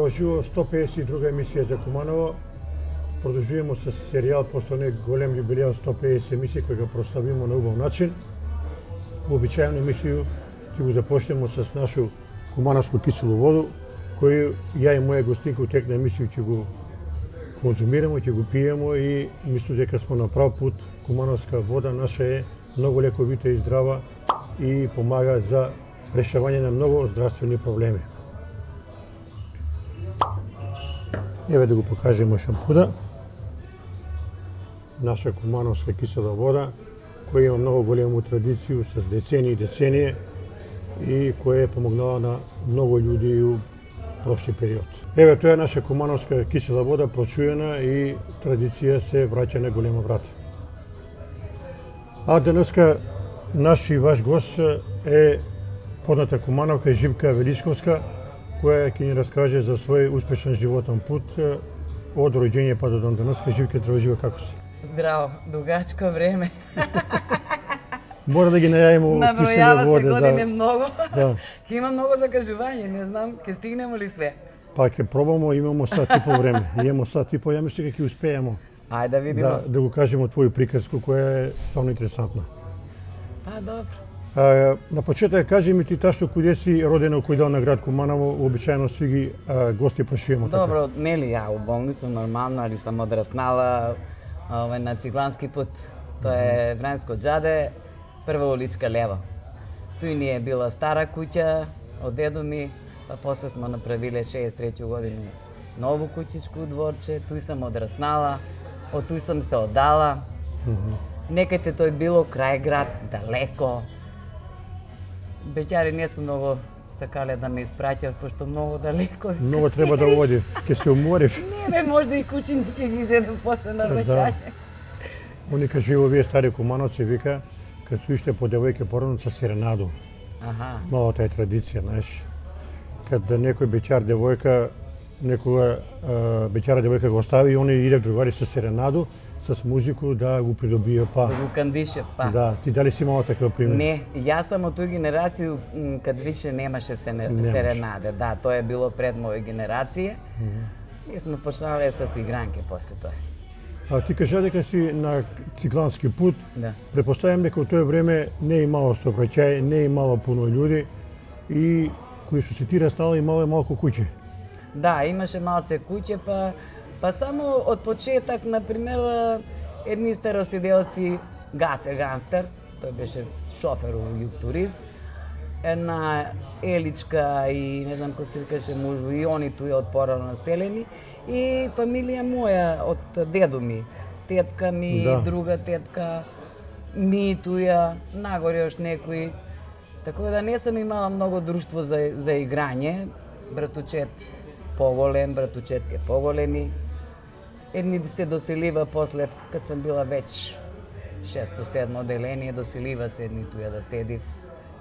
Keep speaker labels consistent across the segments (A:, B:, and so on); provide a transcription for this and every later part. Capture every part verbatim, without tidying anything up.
A: Здраво живо, сто пеесет и друга емисија за Куманово. Продолжуваме со серијал после не голем јубилеј од сто пеесет емисии кој го прославиме на убав начин. Вообичаено емисију ќе го започнеме со нашу кумановску киселу воду, кој ја и моја гостинка тек на емисију ќе го конзумираме, ќе го пиеме и мислам дека сме на прав пут. Кумановска вода наша е многу лековита и здрава и помага за решавање на многу здравствени проблеми. Еве да го покажеме шампуда. Наша кумановска кисела вода, која има многу голема традиција с децении и децении и која е помогнала на многу луѓе и у прошли период. Еве, тоа е наша кумановска кисела вода, прочуена и традиција се враќа на голема врата. А денеска наш и ваш гост е позната кумановка Живка Величковска, која ќе ни раскаже за свој успешен животен пут од роѓење па до ден денеска. Живка, здраво живо, како си?
B: Здраво, дугачко време.
A: Мора да ги најавиме киселе воде.
B: Набројава се години
A: да.
B: многу.
A: Да.
B: Ќе има многу закажување, не знам, ќе стигнеме ли све?
A: Па ќе пробамо, имамо сат и по време. Имамо сат и по, ја мислам дека ќе успееме.
B: Ајде да видиме.
A: Да, да го кажеме твоју приказку која е стварно интересантна.
B: Па добро.
A: А, на почеток кажи ми ти ташто куде си родена, кој дел на град Куманово, обичаено сви ги а, гости прашуваме така.
B: Добро, нели ја у болница нормално, али сам одраснала овај на Циглански пат. Тоа е Врањско џаде, прва уличка лево. Туј ни е била стара куќа од дедо ми, па после смо направиле шеесет и трета година ново куќичко дворче, туј сам одраснала, од туј сам се оддала. Mm -hmm. Некаде тој било крај град, далеко. Беќари не су многу сакале да ме испраќат, пошто многу далеко.
A: Многу треба да води, ќе се уморив.
B: Не, бе, можда и кучиња ќе ги изедем после на враќање.
A: Они кажу, овие стари кумановци вика, кад су иште по девојке породно со серенаду.
B: Аха.
A: Малата е традиција, знаеш. Кад некој беќар девојка, некога беќара девојка го остави и они иде другари со серенаду, с музику да го придобие па.
B: Да го кандише па.
A: Да, ти дали си имала таков пример?
B: Не, јас сам од тој генерација кад више немаше серенаде. Да, тоа е било пред моја генерација. Mm -hmm. И сме почнале с игранке после тоа.
A: А ти кажа дека си на Циглански пут.
B: Да.
A: Претпоставам дека во тоа време не е имало сообраќај, не е имало пуно луѓе и кои што се ти растала имало малку куќи.
B: Да, имаше малце куќе, па па само од почеток, на пример, едни староседелци, Гаце Ганстер, тој беше шофер у Југтуриз, една Еличка и не знам кој се викаше мужу, и они туја од порано населени, и фамилија моја од дедо ми, тетка ми, да. Друга тетка, ми туја, нагоре još некои. Така да не сам имала многу друштво за, за играње, братучет поголем, братучетке поголеми. Едни се доселива после, кад сам била веќе шесто-седмо оделение, доселива се едни туја да седив.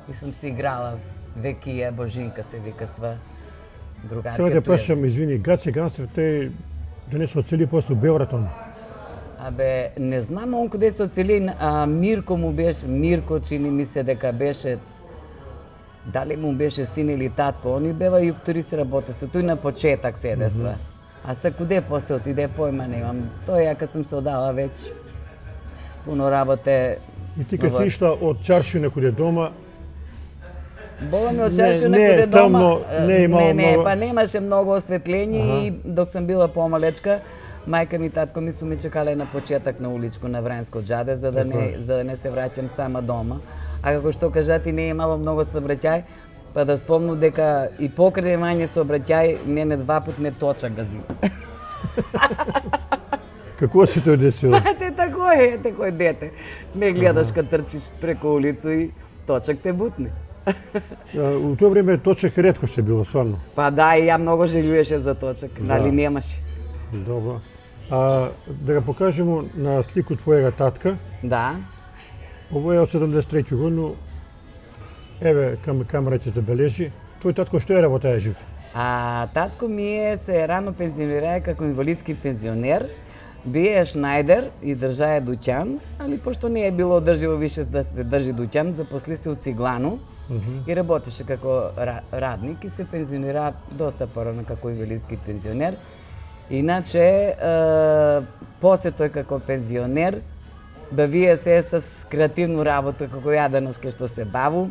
B: И сам си играла Векија, Божинка се вика сва. Другарка
A: сега те прашам, извини, Гаце Ганстер, тој да не се оцели после Белград он?
B: Абе, не знам он каде се оцели, а Мирко му беше, Мирко чини ми се дека беше, дали му беше син или татко, они бева Југтуриз работа се, тој на почеток седе сва. Mm -hmm. А се куде после отиде, појма немам. Тоа ја кад сам се одала веќе пуно работе.
A: И ти кад си ишла од Чарши некуде дома,
B: Бола ми од Чарши некуде дома.
A: Не, не,
B: не, не, па немаше многу осветление и док сам била помалечка, мајка ми и татко ми су ме чекале на почеток на уличко на Врањско џаде за да не за да не се враќам сама дома. А како што кажати, не е имало многу сообраќај, па да спомнам дека и покрај мање сообраќај мене два пат ме точак гази.
A: Како се тоа десило?
B: Па те тако е, тако е дете. Не гледаш кад трчиш преку улицу и точак те бутне.
A: У тоа време точак ретко се било, стварно.
B: Па да, и ја многу желуеше за точак, нали немаше.
A: Добро. А да го покажеме на слику твојега татка.
B: Да.
A: Ово е од седумдесет и трета година. Еве, кам камера ќе забележи. Тој татко што е работеа Живко?
B: А татко ми е се рано пензионира како инвалидски пензионер. Бие Шнајдер и држае дуќан, али пошто не е било одрживо више да се држи дуќан, запосли се у Циглану mm -hmm. и работеше како радник и се пензионира доста порано како инвалидски пензионер. Иначе, е, после тој како пензионер, бавие се с креативно работа како ја данас кај што се баву.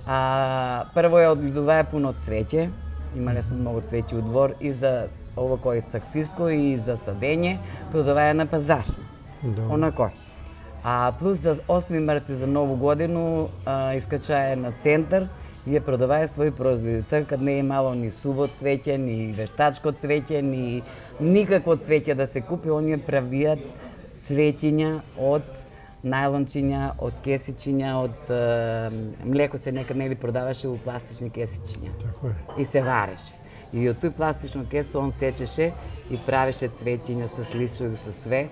B: А, прво ја одгледувае пуно цвеќе, имале сме многу цвеќе у двор и за ово кој саксиско и за садење, продаваја на пазар. Да. Онако. А плюс за осми март за нову годину а, искачае на центар и ја продаваја своји производи. Така не е мало ни суво цвеќе, ни вештачко цвеќе, ни никакво цвеќе да се купи, они правиат цвеќиња од најлончиња, од кесичиња, од е, млеко се некад нели продаваше у пластични кесичиња.
A: Така е.
B: И се вареше. И од тој пластично кесо он сечеше и правеше цвеќиња со лисови, со све.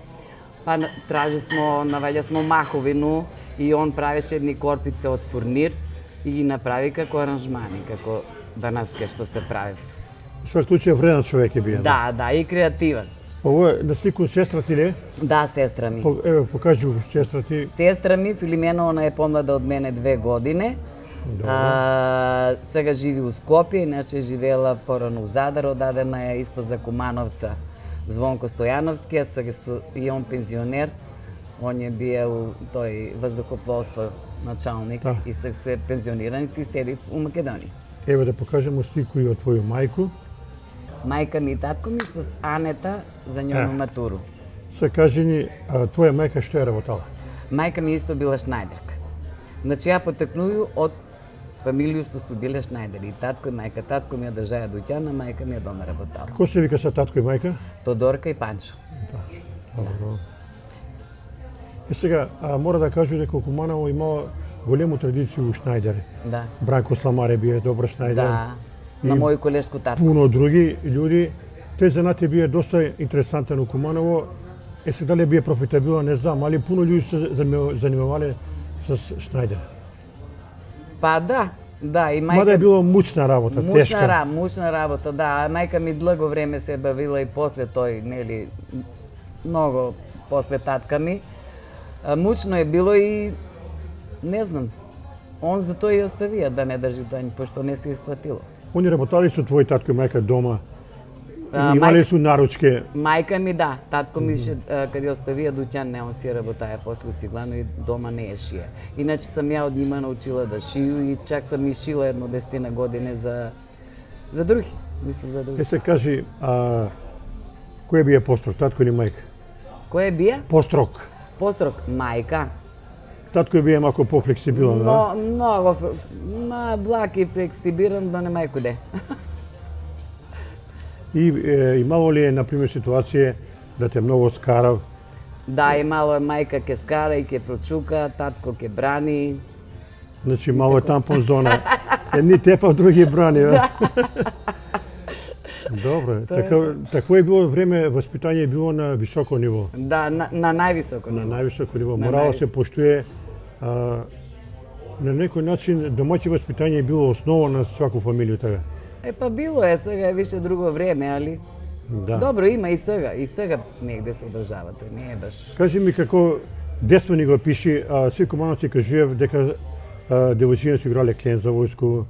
B: Па тражи смо, наваѓа смо маховину и он правеше едни корпице од фурнир и ги направи како аранжмани, како данас кај што се прави.
A: Во секој случај вреден човек е бие.
B: Да, да, и креативен.
A: Ово е на слику сестра ти ли?
B: Да, сестра ми.
A: По, еве, покажи го сестра ти.
B: Сестра ми, Филимена, она е помлада од мене две години. А, сега живи у Скопје, иначе живеела порано у Задар, одадена е исто за Кумановца Звонко Стојановски, а сега и он пензионер. Он е биел тој воздухопловство началник да. И сега се пензиониран и си седи у Македонија.
A: Еве да покажеме слику и од твоју мајку.
B: Мајка ми и татко ми с Анета за њону матуру.
A: Се кажи ни, а, твоја мајка што е работала?
B: Мајка ми исто била шнајдерка. Значи ја потекнују од фамилија што су биле шнајдери. И татко и мајка. Татко ми ја држаја дуќан, а мајка ми ја дома работала.
A: Како се вика са татко и мајка?
B: Тодорка и Панчо.
A: Добро. И сега, а, мора да кажу дека Куманово имала голему традиција у шнајдери.
B: Да.
A: Бранко Сламаре бие добар шнајдер.
B: Да. На мој колешко татко.
A: Пуно други људи. Тој занат бие доста интересантен у Куманово. Е сега дали бие профитабилен, не знам, али пуно људи се занимавале с шнајдер.
B: Па да, да, и мајка...
A: Мада е било мучна работа,
B: мучна,
A: тешка.
B: Ра, мучна работа, да. А мајка ми длго време се бавила и после тој, нели, многу после татка ми. А, мучно е било и, не знам, он за тој и оставија да не држи тој, пошто не се исплатило.
A: Они работали со твој татко и мајка дома?
B: А,
A: имали
B: мајка,
A: су наручке?
B: Мајка ми да, татко ми ше, каде оставија дуќан, не он си работаја после Циглано и дома не е шија. Иначе сам ја од нима научила да шију и чак сам и шила едно десетина години за за други, мислам за други.
A: Е се кажи, а кој бие построк, татко или мајка?
B: Кој бие?
A: Построк.
B: Построк, мајка.
A: Татко бие малку пофлексибилен, да?
B: Но, многу, ма благ и флексибиран, да не мајко де.
A: И е, имало ли е, например, ситуација да те многу скарав?
B: Да, имало е мајка ке скара и ке прочука, татко ке брани.
A: Значи, мало е тампон зона. Едни тепа, други брани, да? Добро, така, такво е било време, воспитање е било на високо ниво.
B: Да, на, на највисоко ниво.
A: На највисоко ниво. Морало се поштуе. А, на некој начин, домаќи воспитање е било основа на сваку фамилија, така?
B: Е, па било е, сега е више друго време, али...
A: Да.
B: Добро, има и сега, и сега негде се одржава, тој не е баш...
A: Кажи ми како детство ни го пиши, а, сви Кумановци кажуваат дека девојчиња се играле клен за војско,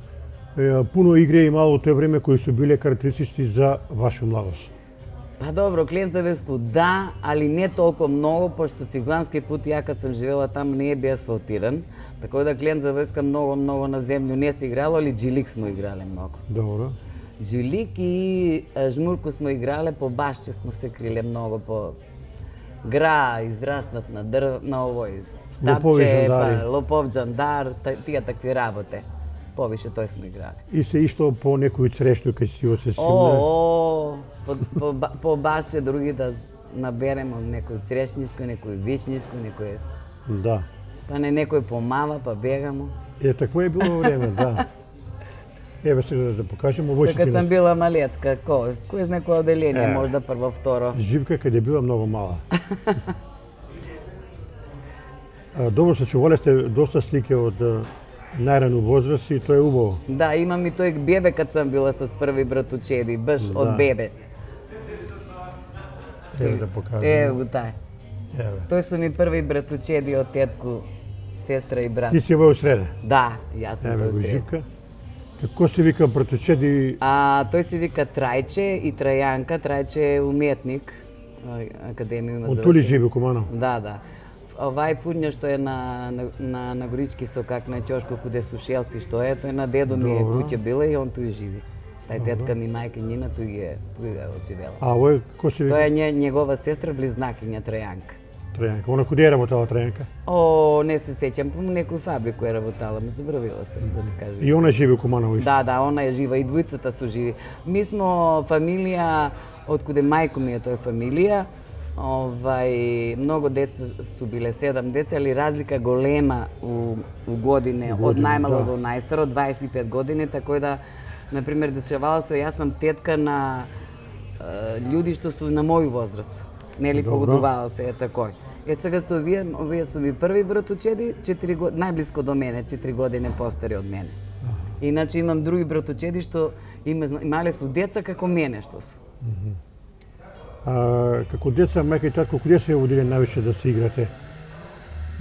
A: е, пуно игри имало тој време кои се биле карактеристични за ваша младост.
B: Па добро, клен за војско, да, али не толку многу, пошто Циглански пут, ја кад сам живела таму, не е би асфалтиран, така да клен за војска многу, многу на земју не се играло, али джилик смо играле многу.
A: Добро.
B: Джилик и жмурку смо играле, по башче смо се криле многу, по гра, израснат на дрв, на овој стапче, па лопов джандар, тие такви работе. Повише тој смо играле.
A: И се ишто по некој црешно кај си се симне?
B: О, по, по, по башче други да наберемо некој црешничко, некој вишничко, некој...
A: Да.
B: Па не некој помава, па бегамо.
A: Е, такво е било време, да. Еве сега да покажеме овој
B: Кога сам била малецка, кој, кој знае кој оделение, можда прво, второ.
A: Живка каде била многу мала. Добро се чувале сте доста слики од најрано возраст и тоа е убаво.
B: Да, имам и тој бебе кад сам била с први братучеди, баш
A: да.
B: Од бебе.
A: Еве да покажам.
B: Еве го тај.
A: Еве.
B: Тој су ми први братучеди од тетку, сестра и брат.
A: Ти си во среда.
B: Да, јас сум
A: Еве
B: тој
A: го
B: среда.
A: Живка. Како се вика братучеди?
B: А тој се вика Трајче и Трајанка. Трајче е уметник, академија има
A: Он тули живи Куманово.
B: Да, да. Овај фурња што е на на на, на Горички сокак на Ќошко куде су шелци што е, тој на дедо ми е куќе била и он туј живи. Тај тетка ми мајка Нина туј е туј е очивела.
A: А овој кој се вика?
B: Тоа е ње, негова сестра близнакиња Трајанка.
A: Трајанка. Она куде е работела Трајанка?
B: О, не се сеќам, по некој фабрику е работала, ме забравила сам да ти кажам.
A: И она живи у Куманово исто?
B: Да, да, она е жива и двојцата су живи. Мы смо фамилија од куде мајко ми е тој фамилија. Овај многу деца су биле, седам деца, али разлика голема у, у године,
A: године,
B: од најмало
A: да.
B: до најстаро, дваесет и пет години, така да, например, дешавало се, јас сум тетка на е, луѓи што су на мој возраст. Нели, погодувало се е такој. Е, сега со овие, овие су ми први братучеди, четири години, најблиско до мене, четири години постари од мене. Иначе имам други братучеди што има, имале су деца како мене што су.
A: А, како деца, мајка и татко, куде се водиле највише да се играте?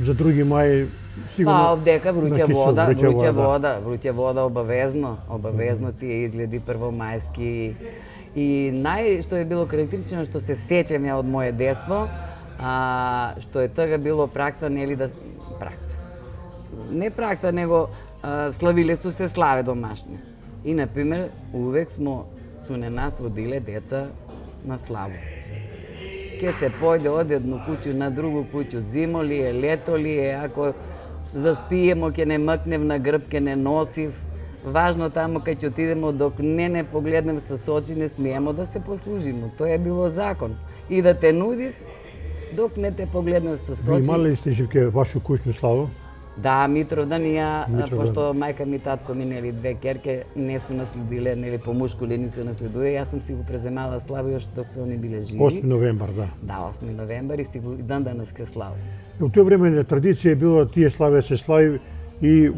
A: За други мај, сигурно...
B: Па, овдека вруќа вода,
A: вруќа
B: вруќа
A: вода.
B: вода, вруќа вода обавезно, обавезно тие изгледи првомајски. И нај што е било карактеристично што се сеќам ја од моје детство, а, што е тога било пракса, нели да пракса. Не пракса, него а, славиле су се славе домашни. И на пример, увек смо су не нас водиле деца на славу. Ке се појде од едно куќу на другу куќу, зимо ли е, лето ли е, ако заспиемо ке не мкнев на грб, ке не носив. Важно тамо кај ќе отидемо, док не не погледнем со очи, не смиемо да се послужимо. Тоа е било закон. И да те нудив, док не те погледнем со очи.
A: Ви имале ли сте, Живке, вашу куќну славу?
B: Да, Митровдан и ја,
A: Митровдан.
B: пошто мајка ми, татко ми, нели, две керке не су наследиле, нели, по мушко ли не су наследуе, јас сум си го преземала славу још док се они биле живи.
A: осми новембар, да.
B: Да, осми новембар и си го и дан данас ке славу.
A: У тој време традиција е било тие славе се слави и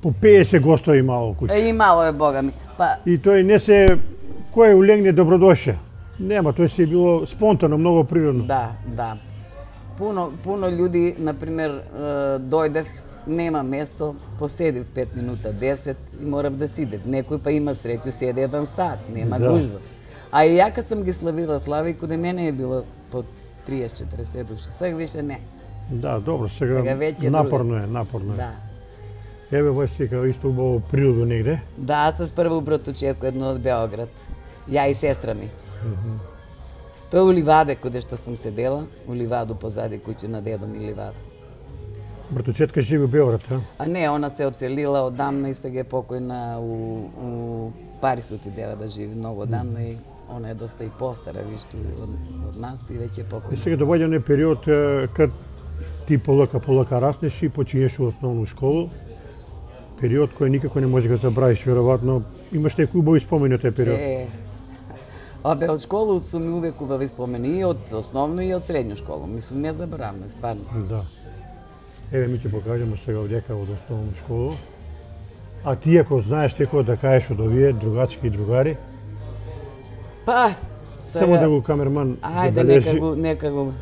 A: по пеесет гостови имало куќа.
B: Е, и мало е, бога ми. Па,
A: И тој не се, кој улегне добродоше. Нема, тој се е било спонтано, многу природно.
B: да, да. Пуно, пуно људи, например, е, дојдев, нема место, поседив пет минута, десет и морав да сидев. Некој па има среќу, седе еден сат, нема
A: Да.
B: гужва. А и ја кад сам ги славила слави, каде мене е било по триесет четиресет души, сега више не.
A: Да, добро, сега,
B: Сега веќе е
A: напорно е, напорно е.
B: Да.
A: Еве во стика исто убаво природо негде.
B: Да, с прво братучетко едно од Београд. Ја и сестра ми. Тоа е у Ливаде, каде што сум седела, у Ливаду позади куќу на дедо ми Ливада.
A: Братучетка живи у Београд, а?
B: А не, она се оцелила одамна и сега е покојна у, у Парис отидева да живи многу одамна и она е доста и постара, вишто од, од нас и веќе е
A: И
B: покојна.
A: сега доаѓа не период е, кад ти полека полека раснеш и почињеш у основну школу. Период кој никако не може да го забравиш, веројатно имаш некои убави спомени од тој период.
B: Е, абе, од школу сум ми увек убави спомени и од основно и од средњу школу. Мислам, не заборавме, стварно.
A: Да. Еве ми ќе покажеме сега овдека од основна школа. А ти ако знаеш некој да кажеш од овие другачки и другари,
B: Па,
A: само да го камерман
B: Ајде,
A: забележи,
B: нека го, нека го.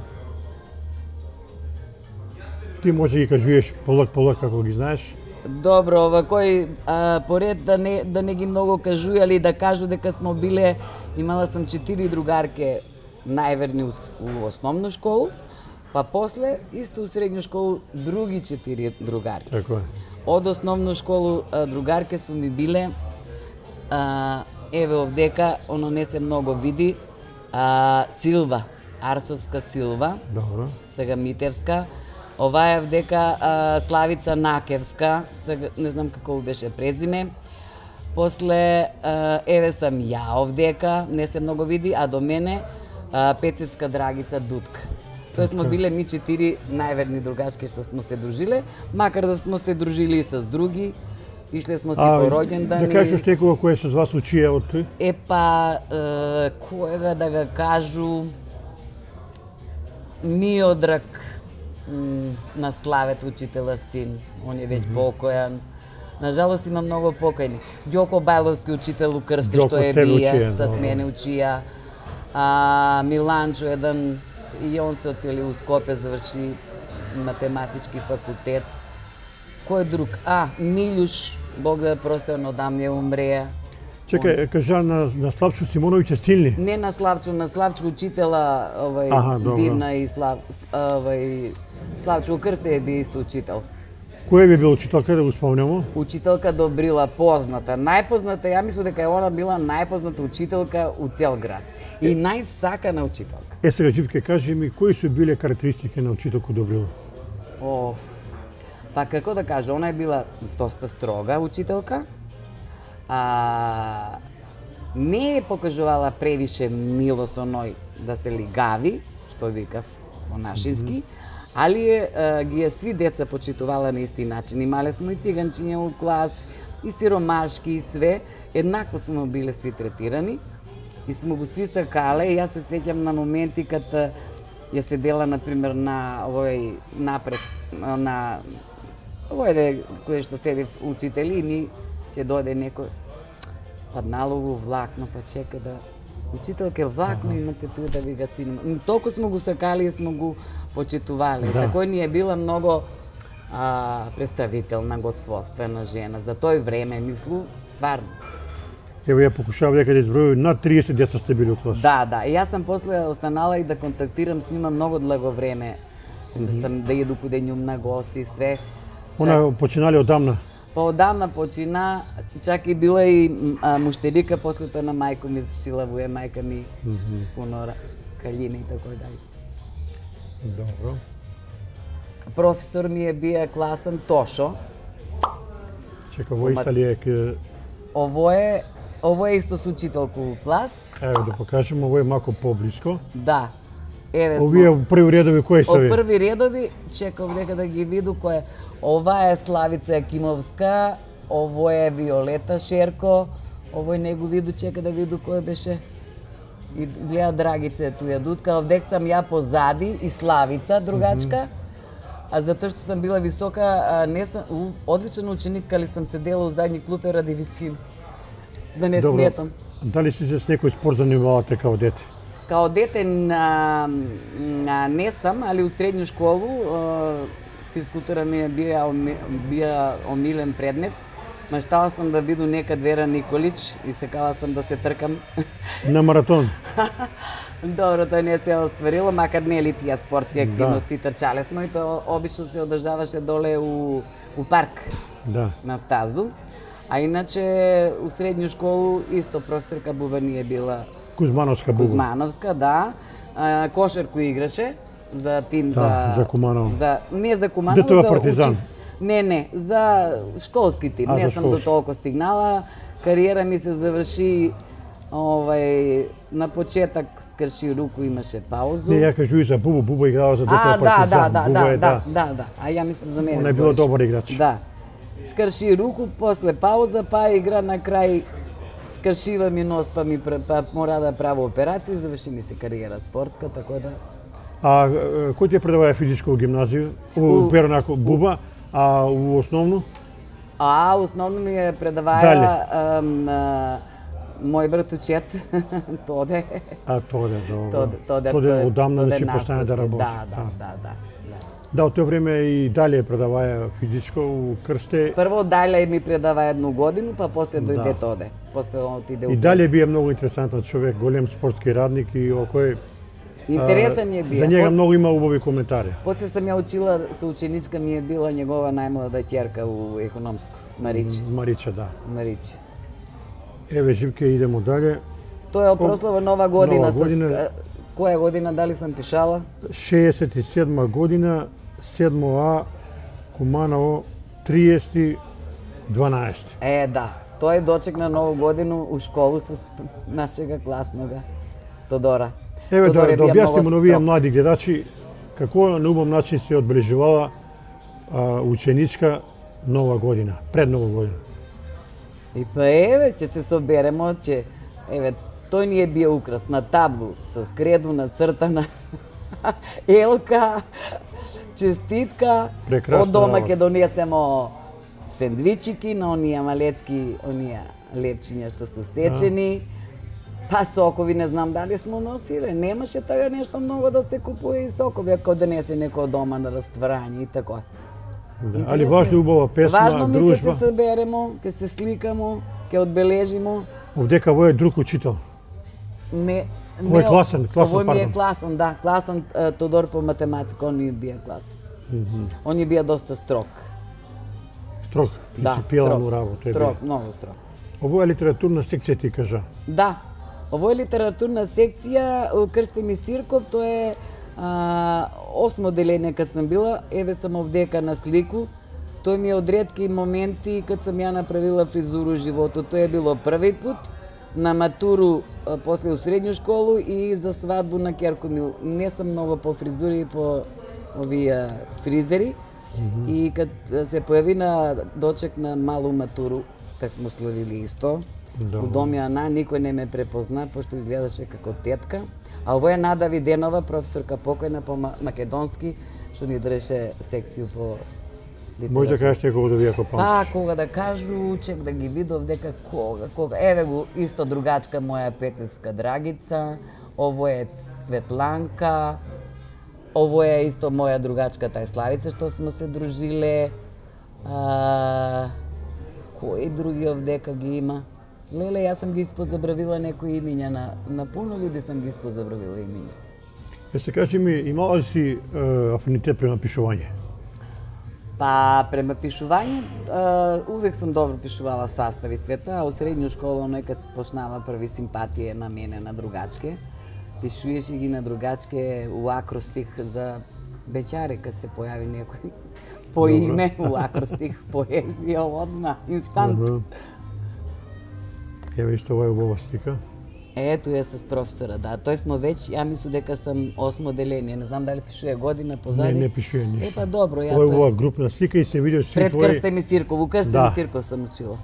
A: ти може да ги кажуеш полак полак како ги знаеш.
B: Добро, ова кој а, поред да не да не ги многу кажујали, да кажу дека смо биле, имала сам четири другарке најверни у, у основну школу, па после исто у средњу школу други четири другарки.
A: Така е.
B: Од основну школу а, другарке су ми биле а, еве овдека, оно не се многу види, а, Силва, Арсовска Силва,
A: Добро.
B: сега Митевска. Оваа вдека а, Славица Накевска, сега не знам како беше презиме. После а, еве сам ја овдека, не се многу види, а до мене а, Пецевска Драгица Дутка. Тоа смо биле ми четири најверни другачки што смо се дружиле, макар да смо се дружили и с други. Ишле смо си
A: А,
B: по роѓендани.
A: да кажеш некој кој со вас учија од тој?
B: Е па, е, којга да ga кажу, Миодрак м, на Славет, учителя син, он е веќе покојан. Нажалост има многу покојни. Ѓоко Бајловски учител у Крсти
A: Ѓоко
B: што е
A: с тебе
B: бија,
A: учија,
B: с
A: добро.
B: мене учија. А Миланчо еден и он се оцели у Скопје, заврши математички факултет. Кој друг? А, Милјуш, Бог да ја прости, он одамне умреа.
A: Чекај, кажа на, на Славчо Симоновиќ е силни?
B: Не на Славчо, на Славчо учитела, овај,
A: Аха,
B: Дивна и Слав, овај, Славчо Крсте е би исто учител.
A: Кој би бил учителка, да го спомнемо?
B: Учителка Добрила, позната. Најпозната, ја мислам дека она била најпозната учителка у цел град. И најсакана учителка.
A: Е, сега, Живке, кажи ми, кои се биле карактеристики на учителка Добрила?
B: Оф. Па како да кажа, она е била доста строга учителка. А, не е покажувала превише мило со ној да се лигави, што викав по нашински, mm -hmm. али е, а, ги е сви деца почитувала на исти начин. Имале сме и циганчиња у клас, и сиромашки, и све. Еднакво сме биле сви третирани и сме го сви сакале. И јас се сеќам на моменти кад ја седела, например, на овој напред, на овој де кој што седи учители и ни ќе дојде некој падналово влакно, па чека да учителке влакно ага. Имате тука да ви га синема. Толку сме го сакали и сме го почитувале. Да. Такој ни е била многу а, представителна, годствоствена жена. За тој време, мислу, стварно.
A: Ево ја покушав дека да изброју над триесет деца сте били у клас.
B: Да, да. И јас сам после останала и да контактирам с нима многу длго време. Mm -hmm. Да сам да једу каде њум на гости и све.
A: Она починали одамна?
B: Па одамна почина, чак и била и а, муштерика, после тоа на мајко ми зашила воја, мајка ми mm -hmm. пуно калина и тако дај.
A: Добро.
B: Професор ми е бија класен Тошо.
A: Чека, ово иста ли е?
B: Ово е, ово е исто со учителку у клас.
A: Ево да покажем, ово е малку поблиско.
B: Да. Еве
A: овие први редови кои се?
B: Од први редови, чекав дека да ги виду кој е. Ова е Славица Јакимовска, ово е Виолета Шерко, овој не го виду, чека да виду кој беше. И гледа Драгица е туја дутка, овдек сам ја позади и Славица, другачка. Mm -hmm. А затоа што сам била висока, не сам одличен ученик, али сам седела у задни клупе ради висина. Да не
A: Добро.
B: сметам.
A: Дали си се с некој спорт занимавате као дете?
B: Као дете на, на не сам, али у средњу школу физкултура ми е бија, бија омилен предмет. Маштала сам да биду некад Вера Николич и сакала сам да се тркам.
A: На маратон?
B: Добро, тоа не се остварило, макар не ли тие спортски активности, да. Трчале сме и тоа обично се одржаваше доле у, у парк,
A: да.
B: На стазу. А иначе у средњу школу исто професорка Буба ни е била
A: Кузмановска Буба.
B: Кузмановска, да. А, кошерку играше за тим
A: да,
B: за
A: за Куманово.
B: За не за Куманово,
A: Детова
B: за
A: Партизан.
B: Учи... Не, не, за школски тим.
A: А,
B: не сам
A: школски.
B: до толку стигнала. Кариера ми се заврши овај на почеток скрши руку, имаше паузу.
A: Не, ја кажу и за Бубу, Буба играла за Детова
B: а,
A: Партизан.
B: Да, да,
A: Буба
B: да,
A: е,
B: да, да, да, да. А ја мислам за мене.
A: Она е била добар играч.
B: Да. Скрши руку, после пауза, па игра на крај. Скршива ми нос, па ми па мора да прави операција и заврши ми се кариера спортска, така да.
A: А кој ти предаваја физичко у гимназија? У Перонако Буба, а у основно?
B: А, основно ми е предаваја мој брат учет, Тоде.
A: А, Тоде, добро.
B: Тоде, Тоде,
A: Тоде одамна да си постане да работи.
B: Да, да, да, да.
A: Да, од тоа време и дале предаваја физичко у Крсте.
B: Прво дале ми предава едну годину, па после дојде да. Тоде. После отиде у
A: И дале бие многу интересантен човек, голем спортски радник и окој
B: интересен е бија.
A: За njega многу има убави коментари.
B: После сам ја учила со ученичка ми е била негова најмлада ќерка у економско, Мариче.
A: Мариче, да.
B: Мариче.
A: Еве Живке, идемо дале.
B: Тоа е прослава Нова година,
A: Нова година.
B: С... Која година, дали сам пишала?
A: шеесет и седма година, седмо А, Куманово, триесети дванаесети.
B: Е, да. Тој дочекна Нову годину у школу со нашега класнога Тодора.
A: Еве
B: Тодор
A: да, да објаснимо на овие
B: строг.
A: млади гледачи како на убав начин се одбележувала а, ученичка Нова година, пред Нова година.
B: И па еве, ќе се соберемо, че еве, тој ни е бија украс на таблу со креду нацртана елка, честитка.
A: Прекрасно.
B: Од дома ќе донесемо сендвичики на оние малецки, оние лепчиња што се сечени. Па сокови не знам дали смо носиле, немаше тага нешто многу да се купува и сокови ако донесе некој од дома на растварање и така.
A: Да, али важно е убава песма,
B: важно ми
A: дружба.
B: ќе се соберемо, ќе се сликамо, ќе одбележимо.
A: Овдека вој е друг учител.
B: Не,
A: Овој е класен, класен,
B: овој ми е
A: пардон.
B: класен, да, класен е, Тодор по математика, он ми бија класен.
A: Mm -hmm.
B: Он ми бија доста строг.
A: Строг,
B: Да,
A: принципијален
B: строг,
A: работа.
B: строг, многу строг.
A: Ово е литературна секција, ти кажа.
B: Да, ово е литературна секција, Крстен и Сирков, тоа е а, осмо деление кад сам била, еве сам овдека на слику. Тој ми е од ретки моменти кад сам ја направила фризуру животот. Тоа е било први пат, на матуру, а, после у средњу школу и за свадбу на ќерко ми. Не сум многу по фризури и по овие фризери. Mm -hmm. И кад се појави на дочек на малу матуру, так смо славили исто.
A: Да.
B: У дом Јана никој не ме препозна, пошто изгледаше како тетка. А ово е Нада Виденова, професорка покојна по македонски, што ни држеше секцију по литература.
A: Може да кажеш некога да ви ако памтиш?
B: Па, кога да кажу, чек да ги видов дека кога, кога. Еве го, исто другачка моја Пецевска Драгица, ово е Светланка, ово е исто моја другачка тај Славица, што смо се дружиле. А, кои други овдека ги има? Леле, јас сам ги испозабравила некои имиња на, на пуно луѓе сам ги испозабравила имиња.
A: Е, се кажи ми, имала ли си е, афинитет према пишување?
B: Па, према пишување, е, увек сам добро пишувала састави света, а у средњу школа некад почнава први симпатија на мене на другачке. Пишуеше ги на другачке у акростих за бечари, кад се појави некој по
A: Добро.
B: име, у акростих поезија одма, инстант.
A: Uh -huh. Еве исто ова е убава слика.
B: Ето ја с професора, да. Тој смо веќе, ја мислам дека сам осмо деление, не знам дали пишува година позади.
A: Не, не пишува ништо.
B: Е, па добро, ја
A: Ова е
B: тоа.
A: убава групна слика и се види сви
B: Пред
A: твои...
B: Крстен и Сирков, у Крстен
A: Да.
B: и Сирков сам учила.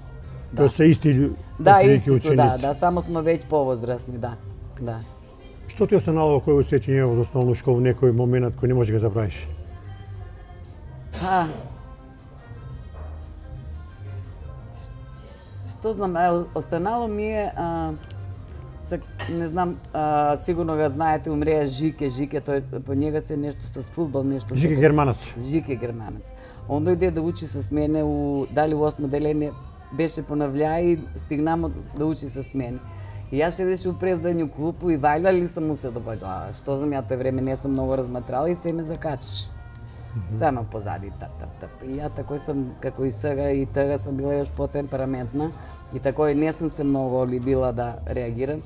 A: Тоа се исти лю-
B: Да,
A: отприлike
B: исти су, да,
A: ученици.
B: да, само смо веќе повозрасни, да. Да.
A: Што ти останало кој усеќање од основна школа, некој момент кој не можеш да го забравиш?
B: Па, што знам, е, останало ми е, а, са, не знам, а, сигурно го знаете, умреа Жике, Жике, тој, по njega се нешто с фудбал, нешто.
A: Жике
B: со-
A: Германац.
B: Жике Германец. Он дојде да учи с мене, у, дали у осмо деление, беше понавља и стигнамо да учи с мене. И јас седеше у презадњу клупу и вајлали сам му се до глава. Што знам, ја тој време не сам многу разматрала и се ме закачаш. Само позади, тап, тап, тап. И ја такој сам, како и сега, и тога сам била још потемпераментна. И такој не сам се многу любила да реагирам.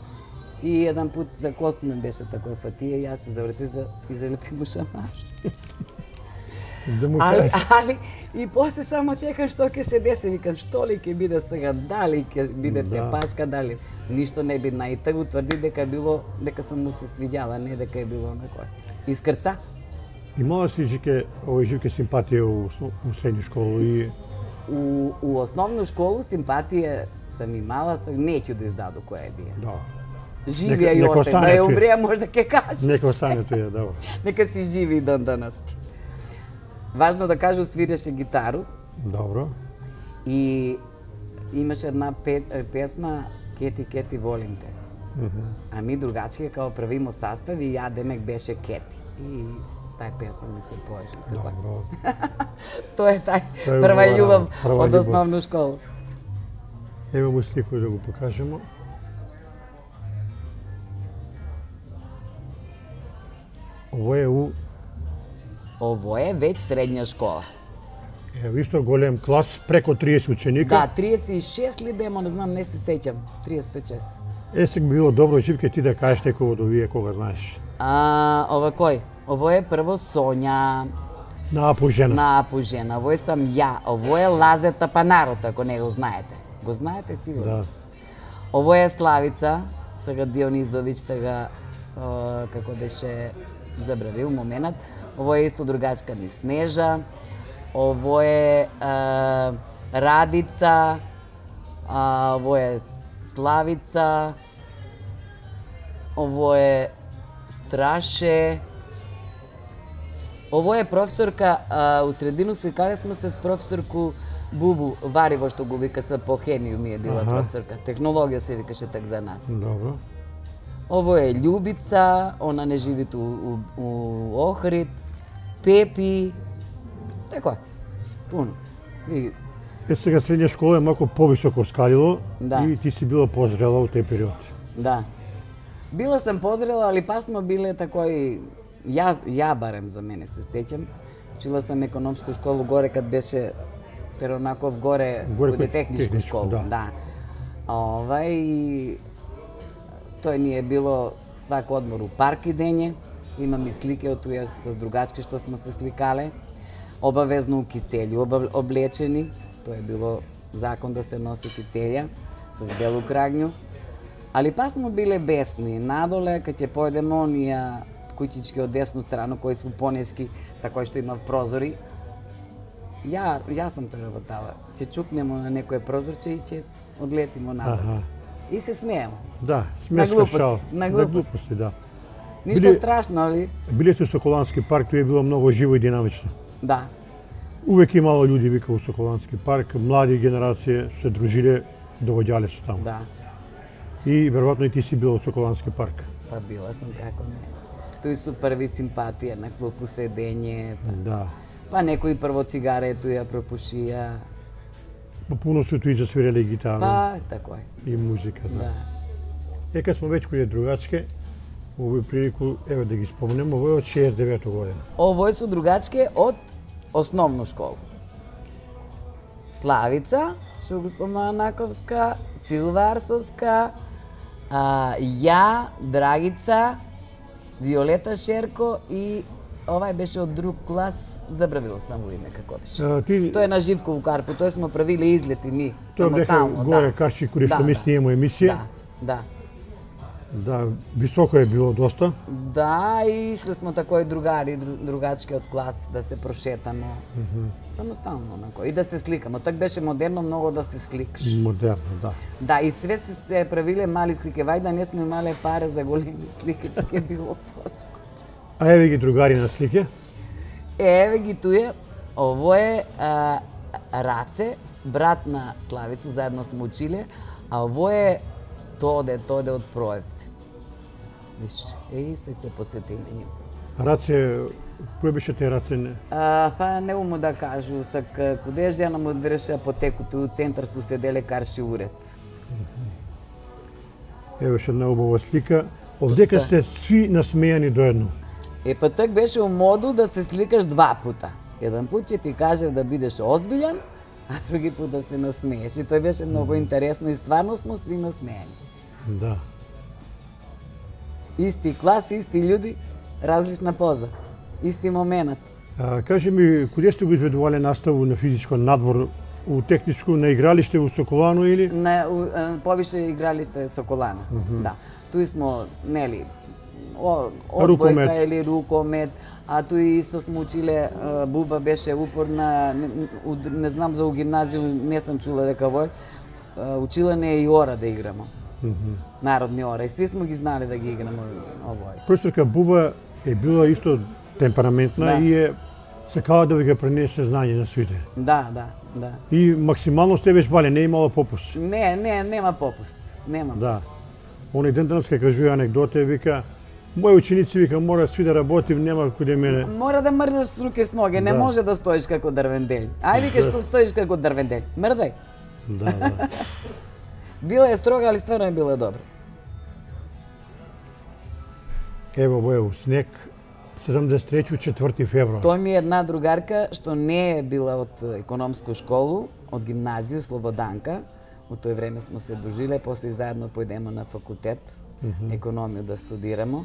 B: И еден пут за косу ми беше такој фатија и јас се заврти за и залепи му шамар.
A: Да му
B: Али,
A: кажеш.
B: али, и после само чекам што ќе се деси, викам што ли ќе биде сега, дали ќе биде
A: Да.
B: тепачка, дали ништо не бидна. И таа утврди дека било, дека сам му се свиѓала, не дека е било некој. Искрца?
A: Имала си Жике, овој Жике симпатија у, осно- у средњу школу и
B: У, у основну школу симпатија сам имала, сам неќу да издаду која е бија.
A: да,
B: Живија
A: Нека-
B: и
A: нека
B: още,
A: остане
B: да ја
A: тој.
B: умреа можда ќе кажеш.
A: нека остане тоа, добро.
B: Нека си живи и дан данаски. Важно да кажу, свиреше гитару
A: Добро.
B: и имаше една пе, песма Кети, Кети, волим те. А ми другачки као правимо састав и ја демек беше Кети. И тај песма ми се поеше. Така.
A: Добро.
B: Тоа е тај
A: Тоа е
B: прва
A: убава
B: љубов
A: работа, прва
B: од
A: љубов.
B: основна школа.
A: Ево му слику да го покажемо. Ово е у,
B: Ово е веќе средња школа.
A: ево исто голем клас, преко триесет ученика.
B: Да, триесет и шест ли бемо, не знам, не се сеќам. триесет и пет шест.
A: Е, сега би било добро, Живке, ти да кажеш некој од овие кога знаеш.
B: А, ова кој? Ово е прво Сонја,
A: На Апу жена.
B: на Апу жена. Ово е сам ја. Ово е Лазета Панарот, ако не го знаете. Го знаете сигурно?
A: Да.
B: Ово е Славица, сега Дионизовиќ, тега, о, како беше забравил моментот. Ово е исто другачка ни Снежа. Ово е а, Радица. А, ово е Славица. Ово е Страше. Ово е професорка, а, у средину свикале сме се с професорку Бубу Вариво, што го вика се по хемiju ми е била
A: Аха.
B: професорка. Технологија се викаше так за нас.
A: Добро.
B: Ово е Љубица, она не живи у, у, у Охрид, Пепи, тако, пуно, сви.
A: Е, сега средња школа е малку повисоко скалило
B: Да.
A: и ти си била позрела у тој период.
B: Да. Била сам позрела, али па смо биле такој, ја, ја барем за мене се сеќам, учила сам економску школу горе кад беше Перонаков горе,
A: Горе
B: каде
A: кај
B: техничку
A: техничку,
B: школу,
A: да.
B: да. Овај, тој ни е било свак одмор у парк идење, имам и слики од туја с другачки што смо се сликале, обавезно у кицелју обав- облечени, тоа е било закон да се носи кицелја с белу крагњу. Али па смо биле бесни, надоле кај ќе појдеме онија куќички од десну страну кои су понески, такој што има прозори. Ја, ја сам тоа работала. Ќе чукнемо на некој прозорче и ќе одлетимо надоле.
A: Аха.
B: И се смееме.
A: Да, смешка
B: глупости,
A: шал.
B: на
A: На
B: глупости.
A: глупости, да.
B: Ништо
A: Биле-
B: страшно, али?
A: Билете у Соколански парк, тоа е било многу живо и динамично.
B: Да.
A: Увек имало луѓе вика у Соколански парк, млади генерација се дружиле, доаѓале се таму.
B: Да.
A: И веројатно и ти си била у Соколански парк.
B: Па била сам како не. Тој су први симпатија на клупу седење, па,
A: Да.
B: па некои прво цигарету ја пропушија,
A: По пуно се и засвиреле гитара
B: па тако е.
A: и музика. Да.
B: Да.
A: Е, кад смо веќе кој е другачке, овој прилику, еве да ги спомнем, овој е од шеесет и девета година.
B: Овој су другачке од основну школу. Славица, Шугспоманаковска, Силварсовска, а, ја, Драгица, Виолета Шерко и овај беше од друг клас, забравила сам во име како беше.
A: А, ти,
B: Тој е на Живкову Карпу, тој смо правиле излети ми,
A: тоа беха
B: самостално.
A: горе
B: Да.
A: Карчи, кои што
B: Да,
A: ми
B: да.
A: снимамо емисија.
B: Да, да.
A: Да, високо е било доста.
B: Да, и ишле смо такои другари, дру- другачки од клас да се прошетаме. Mm -hmm. Самостално, онако. И да се сликаме. Так беше модерно многу да се сликаш.
A: Модерно, да.
B: Да, и све се, се правиле мали слики. Вајда не сме имале пари за големи слики, така е било поско.
A: А еве ги другари на слике.
B: Еве ги туе, ово е а, Раце, брат на Славицу, заедно сме училе, а ово е Тоде, Тоде од Проевци. Виш, е, истак се посетиле нив.
A: Раце, кој беше те Раце? Не?
B: А, па не уму да кажу, сак куде жена му дреше апотекото у центар су седеле карши уред.
A: Еве ше една убава слика. Овдека
B: Тоа.
A: сте сви насмејани доедно.
B: Е, па так беше у моду да се сликаш два пута. Еден пут ќе ти кажев да бидеш озбилен, а други пут да се насмееш. И тоа беше многу интересно и стварно смо сви насмеени.
A: Да.
B: Исти клас, исти људи, различна поза. Исти момент.
A: А, кажи ми, куде сте го изведувале наставу на физичко надвор, у техничко, на игралиште у Соколано или?
B: На у, е, повише игралиште Соколана. Mm -hmm. Да. Туи смо, нели, о, одбојка
A: Рукомет.
B: или рукомет, а туи исто смо училе, е, Буба беше упорна, не, у, не знам за у гимназију, не сам чула дека вој, е, учила не и ора да играмо. Mm -hmm. Народни ора. И сви смо ги знали да ги играмо овој.
A: Професорка Буба е била исто темпераментна
B: Да.
A: и е сакала да ви го пренесе знање на свите.
B: Да, да, да.
A: И максимално сте беше бале, не е имала попуст.
B: Не, не, нема попуст. Нема
A: Да.
B: попуст.
A: Оној ден денес кај кажува анекдота, вика, мои ученици вика мора сви да работим, нема куде мене.
B: Мора да мрдаш с руке с ноге, не
A: Да.
B: може да стоиш како дрвенделј. Ај вика што стоиш како дрвенделј. Мрдај.
A: Да, да.
B: Била е строга, али стварно е била добра.
A: Ево во е у снег, седумдесет и трети, четврти февруар.
B: Тоа ми е една другарка што не е била од економско школу, од гимназија Слободанка. У тој време смо се дружиле, после заедно појдемо на факултет, mm -hmm. економија да студирамо.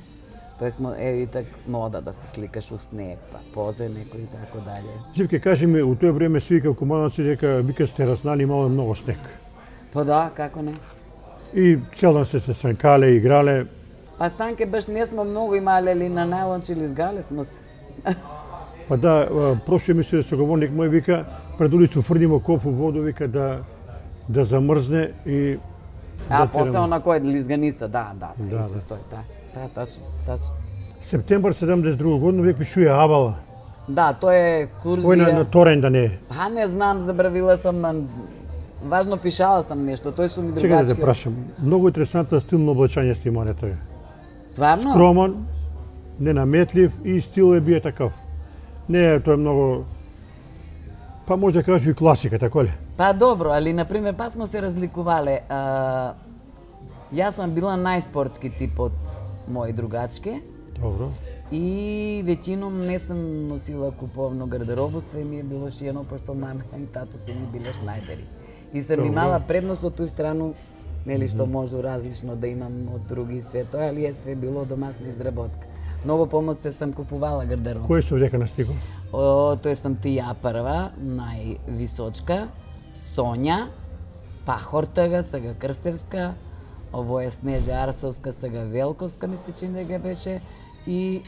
B: Тој смо е и так мода да се сликаш у снег, па позе некој и така дале.
A: Живке, кажи ми, у тоа време сви како младаци дека вика сте разнали, имало многу снег.
B: Па да, како не?
A: И цел ден се се санкале, играле.
B: Па санке баш не смо многу имале, али на најлонче или згале смо се.
A: Па да, а, прошли мисле да соговорник мој вика, пред улицу фрдимо коп у воду, вика да да замрзне и
B: А
A: да
B: после
A: терamo.
B: она кој лизганица, да, да, да,
A: Да,
B: да, се
A: да.
B: стои, да. Да, тачно, тачно.
A: Септембар седумдесет и друга година век пишуе Абала.
B: Да, тоа е курзија.
A: Ој на, на Торен да не е.
B: Па не знам, забравила сам, ан, важно пишала сам нешто, тој су ми
A: Чекај да те
B: другачки.
A: прашам. Многу интересантно стилно облачање сте имале тоа.
B: Стварно?
A: Скромен, ненаметлив и стил е бие такав. Не е тој многу, па може да кажу и класика, така ли?
B: Па добро, али на пример па смо се разликувале. А, јас сам била најспортски тип од мои другачки.
A: Добро.
B: И веćinom не сум носила куповно гардеробу, све ми е било шиено, пошто мама и тато су ми биле шнајдери. И сам имала предност од тој страну, нели што можу различно да имам од други све тоа, али е све било домашна изработка. Многу помоцне сам купувала гардероб.
A: Кој се дека настигол?
B: О, тој сам ти ја прва, највисочка, Сонја, Пахортага, сега Крстевска, ово е Снежа Арсовска, сега Велковска, ми се чини дека беше, и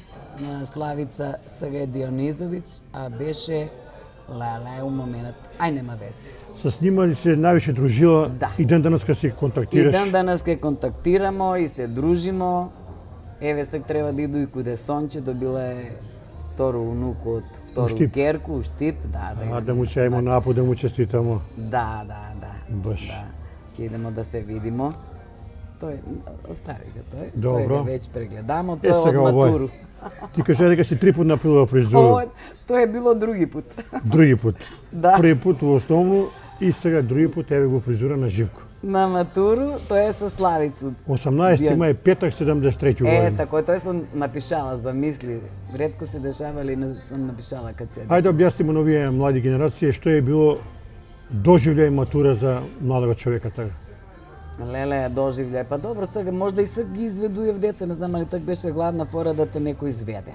B: Славица, сега е Дионизовиќ, а беше Леле, у моментот, ај нема веси.
A: С нима ли се највише дружила
B: Да.
A: и ден денеска се контактираш?
B: И ден денес ке контактирамо и се дружимо. Еве сега треба да иду и куде Сонче, добила е второ унуку од второ
A: Штип.
B: керку, у Штип, да, да.
A: А да му се ајмо напо, да му честитамо.
B: Да, да, да.
A: Баш.
B: Да. Ќе идемо да се видимо. Тој, остави го тој.
A: Добро.
B: Тој веќе прегледамо,
A: Е,
B: тој од
A: сега овој.
B: матуру.
A: Ти кажа дека си три пат направила фризуру.
B: Ова, тоа е било други пат.
A: Други пат.
B: Да.
A: Први пат во основно и сега други пат еве го фризура на живко.
B: На матуру, тоа е со Славицу.
A: осамнаесети
B: Дион.
A: мај петак седумдесет и трети
B: Е,
A: година.
B: тако, тој сум напишала, замисли. Ретко се дешава, али не сум напишала кад се.
A: Ајде објаснимо на овие млади генерации што е било доживљај матура за младого човека така.
B: Леле, доживљај. Па добро, сега можда и сега ги изведуе в деца, не знам, али так беше гладна фора да те некој изведе.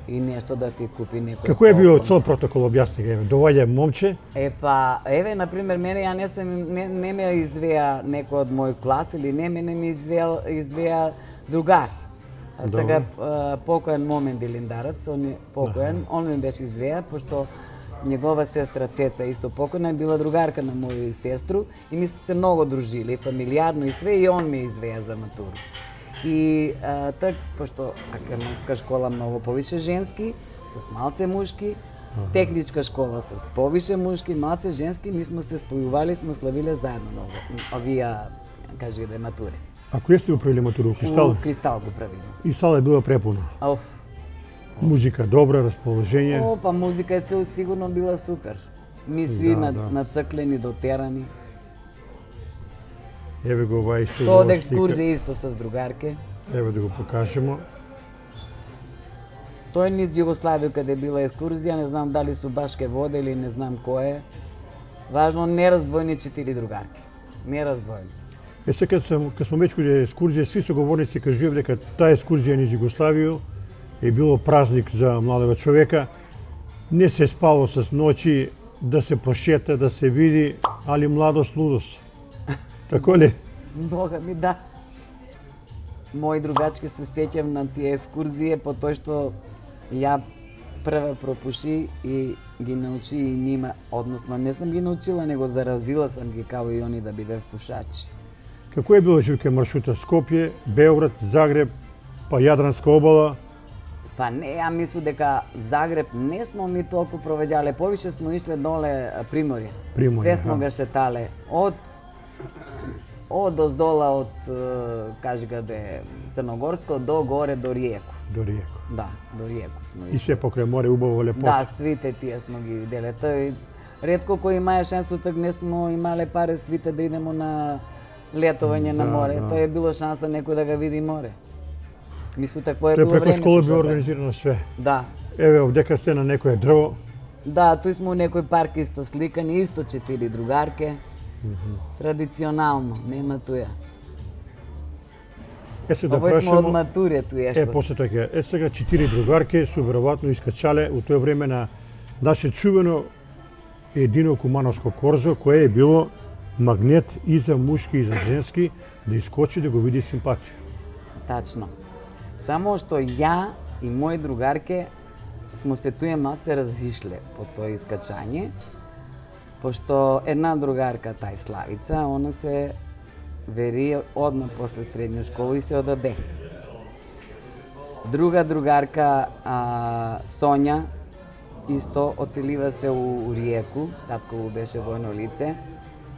B: И нешто да ти купи некој.
A: Како е био
B: попкорн.
A: цел протокол, објасни го, еве. Доаѓа момче,
B: Е па, еве на пример мене ја не сам не, не ме извеа некој од мој клас или не мене ми извеа извеа другар. А сега а, покоен Момен Билиндарец, он е покоен, он ми беше извеа пошто негова сестра Цеса исто покојна е била другарка на моја сестру и ми се се многу дружили, фамилиарно и све, и он ме извеа за матуру. И а, так, пошто академска школа многу повише женски, с малце мушки, техничка школа с повише мушки, малце женски, ми сме се спојували, сме славиле заедно многу, овие, кажи да матури.
A: а кој сте го правили матуру? у Кристал?
B: У Кристал го правиме.
A: И сала е била препуна.
B: Оф.
A: Музика добра, расположение.
B: О, па музика е се сигурно била супер. Ми сви
A: Да,
B: на,
A: да.
B: нацрклени, дотерани.
A: Еве го ова исто.
B: Тоа од
A: ова
B: екскурзија
A: слика.
B: исто с другарке.
A: Еве да го покажемо.
B: Тој низ Југославија каде била екскурзија, не знам дали су баш ке воде или не знам кој е. Важно не раздвојни четири другарки. Не раздвојни.
A: Е сега кад сам кад сме веќе каде екскурзија, сви соговорници кажуваа дека таа екскурзија низ Југославија е било празник за младого човека. Не се спало с ноќи, да се прошета, да се види, али младост лудост. Тако ли?
B: Бога ми да. Мои другачки се сеќам на тие екскурзија по тоа што ја прва пропуши и ги научи и нима, односно не сам ги научила, него заразила сам ги као и они да бидев пушачи.
A: Како е било живке маршрута? Скопје, Београд, Загреб, па Јадранска обала?
B: Па не, ја мислу дека Загреб не смо ми толку провеѓале, повише смо ишле доле а, Приморје.
A: Приморје,
B: Све смо
A: аха.
B: га шетале од од оздола од е, кажи каде Црногорско до горе до Риеку.
A: До Риеко.
B: Да, до Риеку смо
A: И
B: ишле.
A: се покрај море, убаво лепота.
B: Да, свите тие смо ги виделе. Тој ретко кој имае шансу, так не смо имале пари свите да идемо на летовање на
A: Да,
B: море.
A: да.
B: Тоа е било шанса некој да ga види море. Мислу такво е
A: Тоа е
B: било
A: преку
B: време.
A: школа
B: се
A: било
B: што бе.
A: организирано све.
B: Да,
A: Еве, овдека сте на некое дрво.
B: да, тој сме у некој парк исто сликани, исто четири другарке. Традиционално, нема туја.
A: Е се да
B: Овој сме од
A: прашамо.
B: матуре туја
A: Е,
B: што.
A: после така. Е, сега четири другарки су веројатно искачале у тоа време на наше чувено едино кумановско корзо, кое е било магнет и за мушки и за женски, да искочи да го види симпатија.
B: Тачно. Само што ја и мои другарке смо се туе малце разишле по тоа искачање, пошто една другарка, тај Славица, она се вери одма после средна школа и се одаде. Друга другарка, а, Сонја, исто оцелива се у Риеку, татко беше војно лице,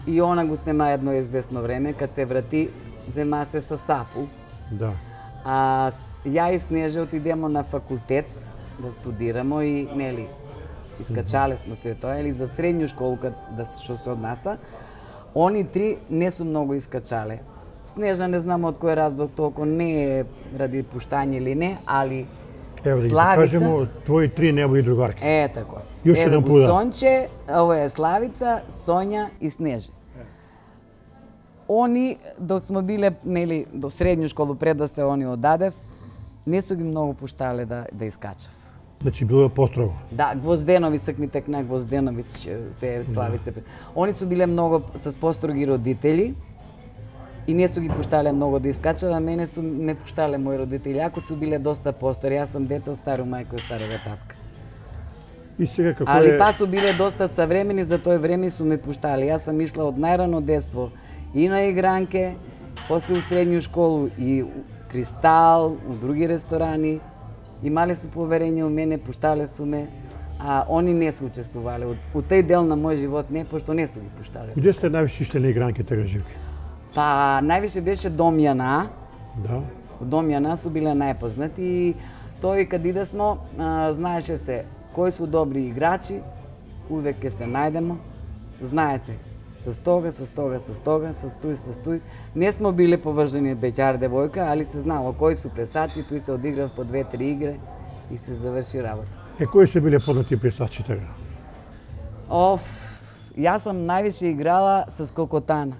B: и она го снема едно известно време, кад се врати, зема се со Сапу.
A: Да.
B: А ја и Снежа отидемо на факултет да студирамо и нели искачале сме се тоа, или за средњу школка да што се однаса. Они три не су многу искачале. Снежа не знам од кој разлог толку не е ради пуштање или не, али
A: Ево да
B: Славица...
A: кажемо, твои три небо и другарки.
B: Е, тако.
A: Још
B: Ево
A: еден
B: го
A: пуда.
B: Сонче, ово е Славица, Сонја и Снежа. Они, док сме биле, нели, до средњу школу пред да се они одадев, не су ги многу пуштале да, да искачав.
A: Значи било построго.
B: Да, Гвозденови, сакми текна Гвозденовиќ се Славица. Да. Они су биле многу с построги родители и не су ги пуштале многу да искачат, а мене су не пуштале мои родители, ако су биле доста постари. Јас сум дете од старо мајка и старога татка.
A: И сега како
B: Али
A: е...
B: па су биле доста современи за тој време и су ме пуштали. Јас сум ишла од најрано детство и на игранке, после у средњу школу и у Кристал, у други ресторани. Имале су поверење у мене, пуштале су ме, а они не су учествувале. У тој дел на мој живот не, пошто не су ги пуштале.
A: Где сте највише ишле на игранки тега живки?
B: Па, највише беше Домјана.
A: Да.
B: У Домјана су биле најпознати и тој каде иде смо, а, знаеше се кои су добри играчи, увек ќе се најдемо, знае се с тога, с тога, с тога, с тој, с тој. Не смо биле поврзани беќар девојка, али се знало кои су плесачи, тој се одиграв по две-три игре и се заврши работа.
A: Е, кои се биле познати плесачи тега?
B: Оф, јас сам највише играла с Кокотана.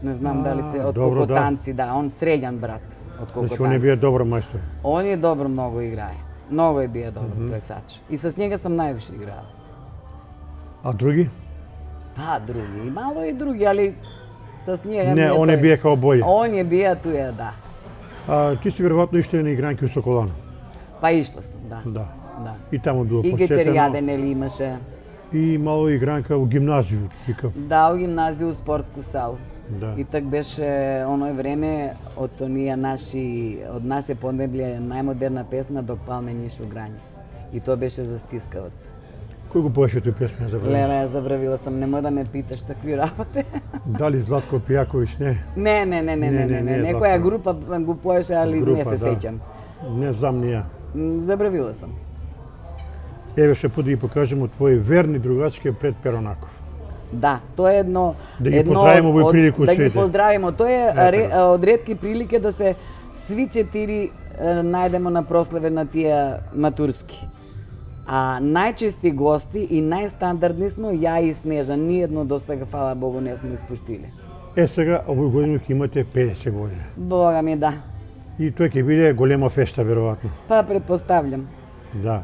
B: Не знам
A: А,
B: дали се од
A: добро,
B: Кокотанци, да. да, он средјан брат од Кокотанци.
A: Значи он е бие добар мајстор.
B: Он е добро многу играе. Многу е бие добар mm -hmm. плесач. И с njega сам највише играла.
A: А други?
B: Па, други. И мало и други, али с njega...
A: Не, он е бие као бој.
B: Он е бие туја, да.
A: А ти си веројатно ишле на игранки у Соколана.
B: Па ишла сум, да.
A: Да.
B: Да.
A: И таму било
B: И
A: посетено.
B: Гетеријаде, нели имаше.
A: И мало игранка у гимназију, викав.
B: Да, у гимназију, у спортску салу.
A: Да.
B: И так беше оној време од оние наши, од наше поднебле најмодерна песна Док палме ниш у грање. И тоа беше за стискавац.
A: Кој го поеше тој песма, забравив?
B: Леле, ја забравила сам, немој да ме питаш такви работи.
A: Дали Златко Пијаковиќ, не?
B: Не, не, не, не, не, не, не, некоја група го поеше, али
A: Група,
B: не се
A: да.
B: сеќам.
A: Не знам ни ја.
B: М, Забравила сам.
A: Еве ше поди ги покажемо твои верни другачки пред Перонаков.
B: Да, тоа е едно...
A: Да ги
B: едно
A: поздравиме овој
B: од-
A: прилику
B: Да ги
A: сите.
B: поздравиме. Тоа е
A: Ете
B: ре,
A: го.
B: од ретки прилike да се сви четири е, најдемо на прославе на тие матурски. А најчести гости и најстандардни смо ја и Снежа. Ниедно до сега, фала Богу, не сме испуштиле.
A: Е сега, овој година ќе имате педесет години.
B: Бога ми, да.
A: И тој ќе биде голема фешта, веројатно.
B: Па предпоставljam.
A: Да.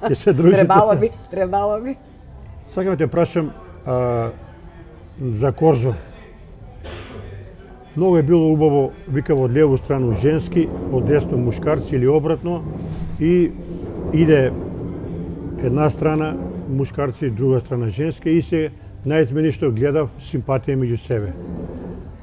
A: Ќе се дружите.
B: Требало би, требало би.
A: Сакам да те прашам а, за Корзо. Многу е било убаво, викав, од леву страну женски, од десно мушкарци или обратно, и иде една страна мушкарци, друга страна женски, и се најизмени што гледав симпатија меѓу себе.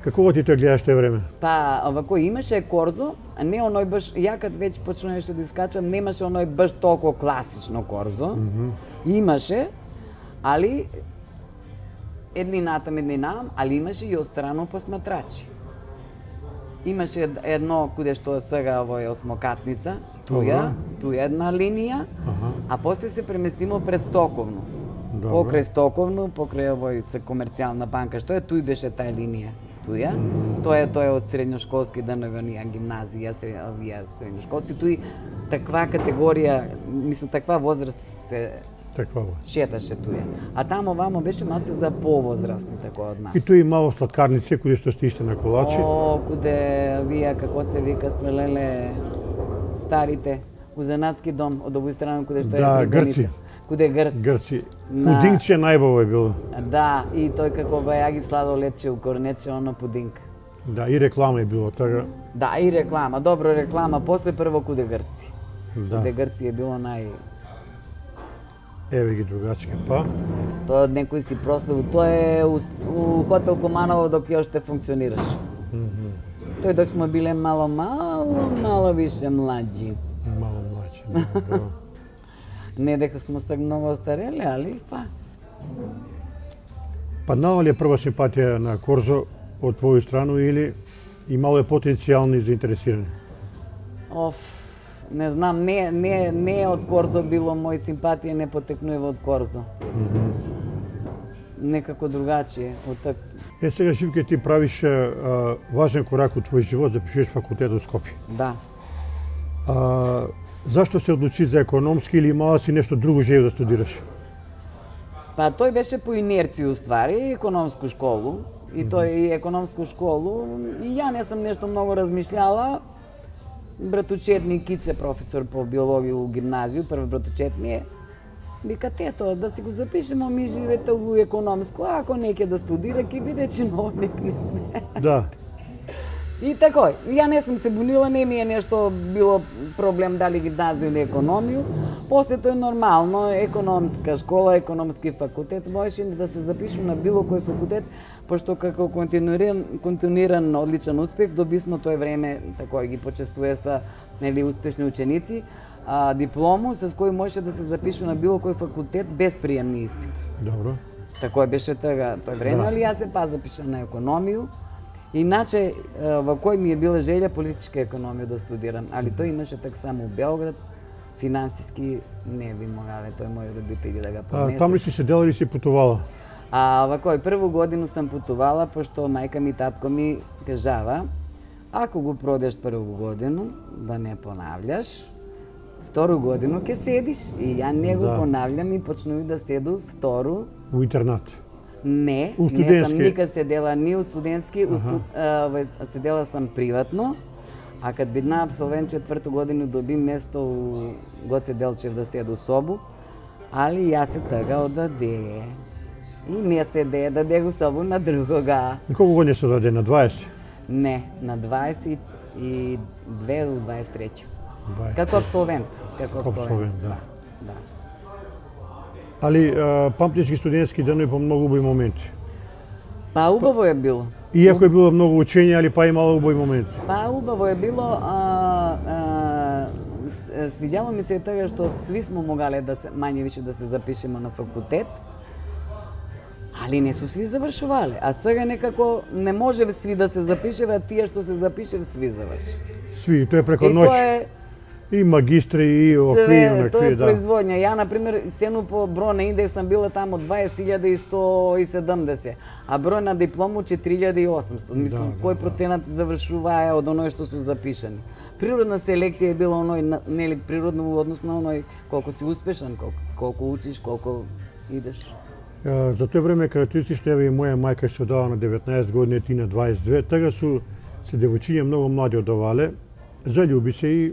A: Како ти тоа гледаш тој време?
B: Па, овако имаше Корзо, а не оној баш, ја кад веќе почнуваше да искачам, немаше оној баш толку класично Корзо. Mm -hmm. Имаше, али едни натам, едни нам, али имаше и отстрано посматрачи. Имаше ед- едно куде што сега овој осмокатница, туја, туја една линија,
A: Аха.
B: а после се преместимо пред Стоковно.
A: Добро.
B: Покрај Стоковно, покрај овој се комерцијална банка, што е туј беше тај линија. Туја. Тоа е тоа е од средњошколски денови, оние гимназија, средња, овие средњошколци, туј таква категорија, мислам таква возраст се
A: Таква во.
B: шеташе туја. А таму вамо беше малце за повозрастни тако од нас.
A: И тој мало сладкарници, кои што сте иште на колачи.
B: О, куде вие, како се вика, свелеле старите, у занатски дом, од овој страна куде што
A: Да,
B: е фризаница.
A: Грци.
B: Куде Грц.
A: Грци.
B: На-
A: Пудингче најбаво е било.
B: Да, и тој како го ја ги сладо лече у корнече, оно пудинг.
A: Да, и реклама е било така.
B: Да, и реклама, добро реклама, после прво куде Грци.
A: Да.
B: Куде Грци е било нај...
A: Еве ги другачки, па.
B: Тоа од некој си прославил, тоа е у, у хотел Команово док ја уште функционираше. Тој док сме биле мало, мало, мало више млади.
A: Мало млаđi. Добро.
B: Не дека сме се многу остарели, али па.
A: Паднала ли е прва симпатија на Корзо од твоја страна или имало е потенцијални заинтересирани?
B: Оф, не знам, не не не од Корзо било, мој симпатија не потекнува од Корзо. Mm -hmm. Некако другачие од так.
A: Е, сега, Живке, ти правиш а, важен корак од твој живот, запишуваш факултет во Скопје.
B: Да.
A: А, зашто се одлучи за економски или имала си нешто друго желе да студираш?
B: Па тој беше по инерција уствари, економску школу. И тој и економску школу. И ја не сум нешто многу размишљала. Братучет ми Кице, професор по биологија у гимназију, прв братучет ми е. Вика, тето, да си го запишемо ми живете у економско, а ако не ќе да студира, ќе биде чиновник.
A: Да.
B: И тако, ја не сум се бунила, не ми е нешто било проблем дали гимназију или економију. После тоа нормално, економска школа, економски факултет, можеше да се запишу на било кој факултет, пошто како континуиран, континуиран одличен успех, добисмо тој време, тако ги почестува са, нели, успешни ученици, а, диплому с кој можеше да се запишу на било кој факултет без приемни испит.
A: Добро.
B: Тако беше тога тој време, да. Али јас се па запиша на економију. Иначе, во кој ми е била желја политичка економија да студирам, али тој имаше так само у Белград, финансиски не би могале тој мој родители да го понесат.
A: А там ли си седела или си путувала?
B: А вакој прву годину сам путувала, пошто мајка ми и татко ми кажава, ако го продеш прву годину, да не понављаш, втору годину ќе седиш. И ја не го да. Понавljам и почнув да седу втору.
A: У интернат?
B: Не, не сам никад седела ни у студентски, у студ... а, седела сам приватно, а кад бидна абсолвент четврту годину доби место у Гоце Делчев да седу собу, али ја се тага одаде. И не седе, даде го собу на другога.
A: И колку години се одаде, на дваесет?
B: Не, на дваесет и две до дваесет и трета. Како абсолвент. Како
A: абсолвент, да.
B: Да.
A: Али памтиш ги студентски денови по многу убави моменти?
B: Па убаво е било.
A: Иако е било многу учење, али па имало убави моменти?
B: Па убаво е било, а, а, свиѓало ми се тога што сви смо могале да се мање више да се запишеме на факултет, али не су сви завршувале. А сега некако не може сви да се запишева, а тие што се запишев сви заврши.
A: Сви, тоа е преко ноќ. И магистри, и окви, и онакви,
B: тоа е
A: да.
B: производња. Ја, например, цену по број на индекс сам била тамо дваесет илјади сто и седумдесет, а број на диплому четири илјади и осумстотини. Мислам, да, кој да, проценат завршуваа од оној што су запишани. Природна селекција е била оној, нели, природно во однос на оној колку си успешен, колку, колку учиш, колку идеш.
A: За тоа време карактеристично, еве и моја мајка се одава на деветнаесет години, ти на дваесет и две, тога су се девојчиња многу млади одавале, залюби се и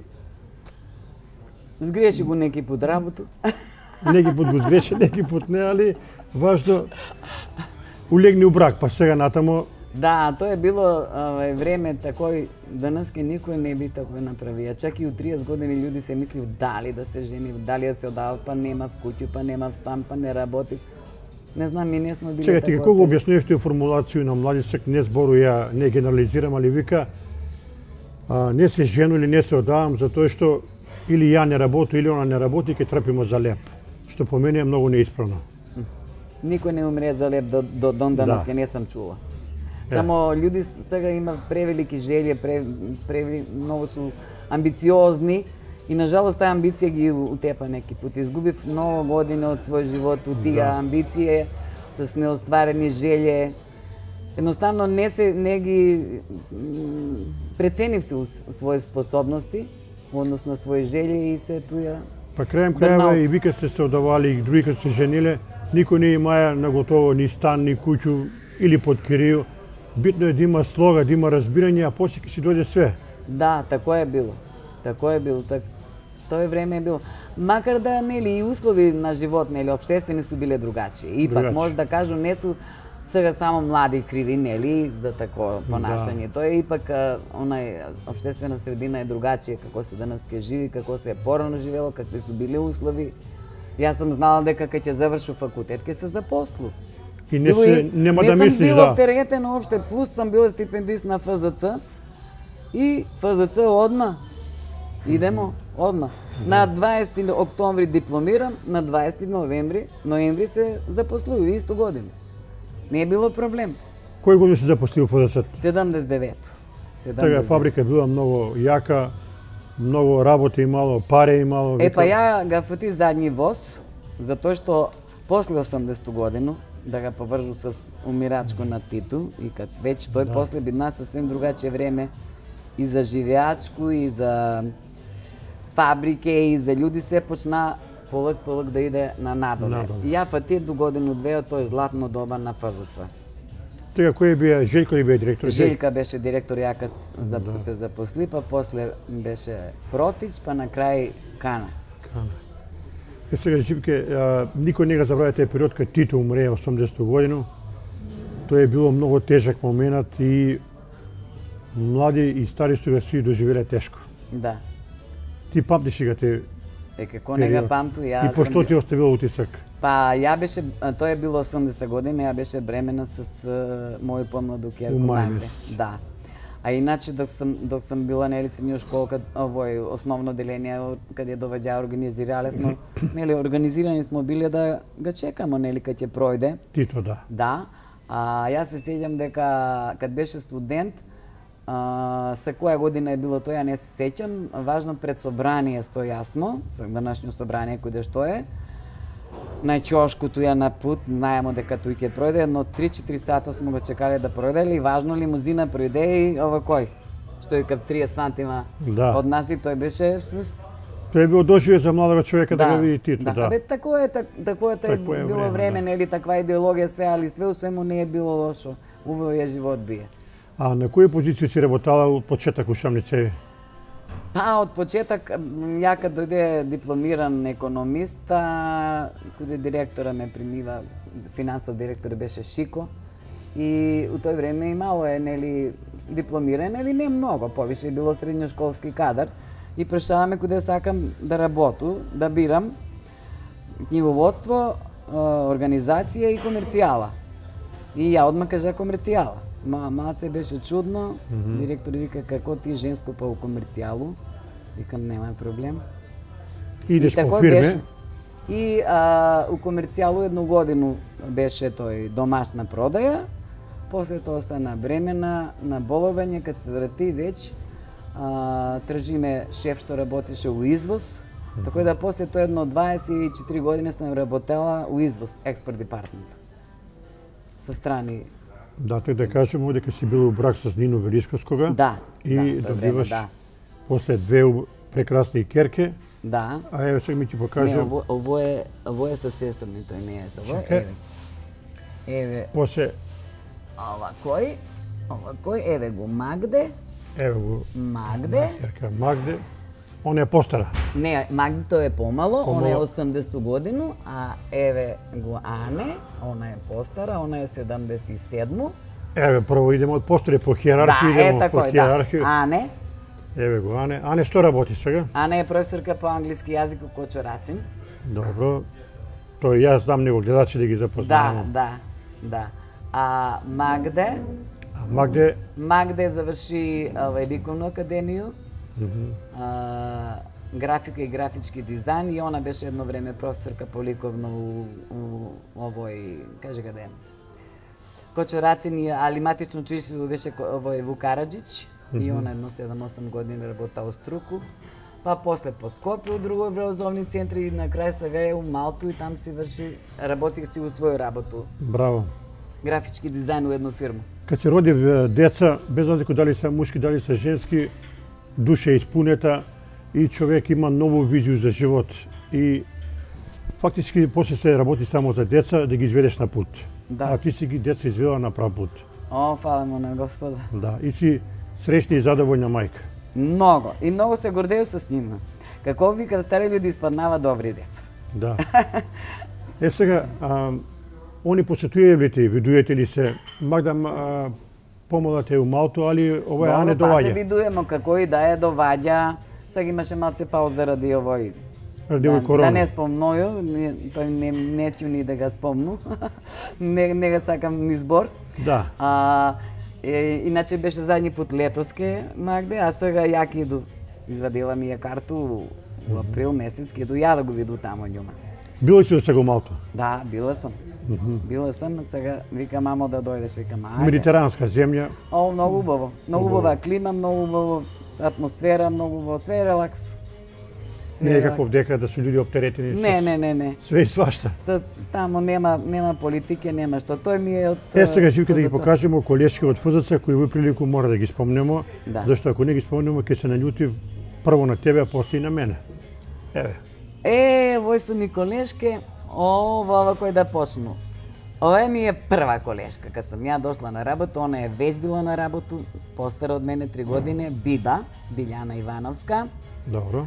B: сгреши го неки пут работу.
A: Неки пут го сгреши, неки пут не, али важно улегни у брак, па сега натамо.
B: Да, тоа е било аве, време такој, денеска никој не би такој направија. Чак и у триесет години луѓе се мислив дали да се жени, дали да се одават, па нема в куќу, па нема в стан, па не работи. Не знам, ми не сме били
A: така. Чекај, ти како го објаснуваш тој формулација на младисек, не збору ја, не генерализирам, али вика, а, не се жену или не се одавам, затоа што или ја не работи, или она не работи, ќе трпимо за леп. Што по мене е многу неисправно.
B: Никој не умре за леп до, до дон данеска, да. Не сам чула. Само е. Луѓе сега има превелики желје, пре, пре, многу су амбициозни и нажалост таа амбиција ги утепа неки пат. Изгубив многу години од свој живот у тие да. Амбиции с неостварени желје. Едноставно не се не ги преценив се своји способности, однос на своји желји и се туја.
A: Па крајем крајева и вика се се одавали и други се жениле, никој не имаја на готово ни стан, ни куќу или под кирију. Битно е да има слога, да има разбирање, а после ќе си дојде све.
B: Да, тако е било. Тако е било, так. Тоа време е било. Макар да нели и услови на живот, нели општествени су биле другачи. Ипак другачи. Може да кажу не су сега само млади криви, нели, за такво понашање. Да. Тоа е ипак онај општествена средина е другачија, како се денеска живи, како се е порано живело, какви су били услови. Јас сум знала дека кога ќе завршу факултет ќе се запослу.
A: И не се нема да мислиш, да.
B: Не сум била оптеретен уопште, плюс сум била стипендист на Ф З Ц и Ф З Ц одма. Идемо одма. На дваесети октомври дипломирам, на дваесети ноември, ноември се запослуju исто година. Не е било проблем.
A: Кој година се запосли во Ф З Ц?
B: седумдесет и девето.
A: Тага фабрика била многу јака, Многу работа имало, пари имало.
B: Е, па ја га фати задни воз, затоа што после осамдесету годину, да га повржу с умирачко на Титу, и кад веќе тој да. После бидна сасвем другаче време и за живеачко, и за фабрике, и за луѓе се почна полак полак да иде на надоле. надоле. И ја фати до годину-две од тој златно доба на Ф З Ц.
A: Тега кој бија Желјко ли бија директор?
B: Желјка беше директор, ја кад да. се запосли, па после беше Протич, па на крај Кана.
A: Кана. Е сега Живке, никој не га забравя тој период кога Тито умре осамдесету годину. Тоа е било многу тежак момент и млади и стари су га си доживеле тешко.
B: Да.
A: Ти памтиш га те?
B: Е, како не га памту, ја
A: и по што ти оставило утисак?
B: Па ја беше, тоа е било осамдесета година, ја беше бремена с uh, мој помладу ќерко Магде. Да. А иначе док сам док сам била нели средња школка, овој основно деление каде доваѓа организирале смо, нели организирани смо биле да га чекамо нели кога ќе пројде.
A: Тито да.
B: Да. А јас се сеќам дека кад беше студент, а, се која година е било тоа, ја не се сеќам, важно пред собрание стојасмо, со данашно собрание каде што е. На ќошкото ја на пут, знаемо дека тој ќе пројде, едно три-четири сата смо го чекале да пројде, и важно лимузина пројде и ова кој? Што е кај триесет сантима да. Од нас, и тој беше...
A: Тој е било доживе за младого човека да, да го види Тито, да.
B: Да, абе, тако е, так, тако е, тако е било време, да. Нели, таква идеологија, све, али све у свему не е било лошо. Убавиот живот бие.
A: А на која позиција си работала од почеток у Шамницеви?
B: Па, од почеток, ја кад дојде дипломиран економист, каде директора ме примива, финансов директор беше Шико, и у тој време имало е, нели, дипломиран, нели, не многу, повише било средњошколски кадар, и прешаваме каде сакам да работу, да бирам книговодство, организација и комерцијала. И ја одма кажа комерцијала. Ма, малце беше чудно, mm -hmm. директор вика како ти женско па у комерцијалу. Викам нема проблем.
A: Идеш по фирме?
B: Беше. И а, у комерцијалу едну годину беше тој домашна продаја, после тоа стана бремена на боловање, кад се врати веќе а, тржиме шеф што работеше у извоз, mm -hmm. така да после тоа едно дваесет и четири години сам работела у извоз, експорт департамент. Со страни.
A: Да, така да кажеме дека си бил у брак со Нино Величковскога.
B: Да.
A: И
B: да,
A: добиваш
B: време, да.
A: После две прекрасни керке.
B: Да.
A: А еве сега ми ќе покажам.
B: Не, ово, ово е, ово е со сестра ми, тој не е со ово. Еве. Еве.
A: После
B: ова кој? Ова кој? Еве го Магде.
A: Еве го
B: Магде.
A: Керка Магде. Он е постара.
B: Не, Магде тој е помало, помало. Он е осамдесету годину, а еве го Ане, она е постара, она е седамдесет и седму.
A: Еве, прво идеме од постари по хиерархија,
B: да,
A: идеме
B: е,
A: по хиерархија.
B: Да. Ане.
A: Еве го Ане. Ане што работи сега?
B: Ане е професорка по англиски јазик у Кочорацин.
A: Добро. Тој јас знам него гледачи да ги запознавам.
B: Да, да, да. А Магде?
A: А Магде?
B: Магде заврши овај ликовну академију. Mm -hmm. а, графика и графички дизајн, и она беше едно време професорка по ликовно у, у овој, каже каде, Кочорацин, али матично училиште беше овој Вук Караджич, mm -hmm. и она едно седум-осум години работа у Струку, па после по Скопје у други образовни центри, и на крај сега е у Малту, и там си врши, работи си у своју работу.
A: Браво.
B: Графички дизајн у една фирма.
A: Кад се роди деца, без разлика дали се мушки, дали се женски, душа е испунета и човек има нову визија за живот. И фактички после се работи само за деца да ги изведеш на пут.
B: Да.
A: А ти си ги деца извела на прав пут.
B: О, фала му на Господа.
A: Да, и си среќна и задоволна мајка.
B: Многу. И многу се гордеju со нима. Како вика стари луѓе испаднава добри деца.
A: Да. Е сега, а, они посетувале ли те, видуете ли се, Магда а, помалате у Малту, али ова ја не доваѓа?
B: Па се видуемо како и да е доваѓа. Сега имаше малце пауза заради овој.
A: Ради овој корона.
B: Да не спомноју, тој не не ќе ни да га спомну. не не ga сакам ни збор.
A: Да.
B: А е, иначе беше задни пут летоске Магде, а сега ја ќе иду. Извадила ми ја карту у април месец, ќе иду ја да го виду таму њума.
A: Била си сега у Малту?
B: Да, била сам. Mm -hmm. Била сам, сега вика мамо да дојдеш, викам ајде.
A: Медитеранска земја.
B: О, многу убаво. Многу убава клима, многу убаво атмосфера многу во све релакс.
A: Не е како дека да се луѓе оптеретени
B: Не, не, не, не.
A: све и свашта.
B: Со тамо нема нема политика, нема што. Тој ми е од
A: Е сега Живка да ги покажеме колешки од Ф З Ц кои во прилику мора да ги спомнеме,
B: Да.
A: зашто ако не ги спомнеме ќе се наљути прво на тебе, а после и на мене. Еве.
B: Е, вој су ми колешке, о, во кој да почну. Ова ми е прва колешка. Кад сам ја дошла на работа, она е веќе била на работу, постара од мене три години, Биба, Билјана Ивановска.
A: Добро.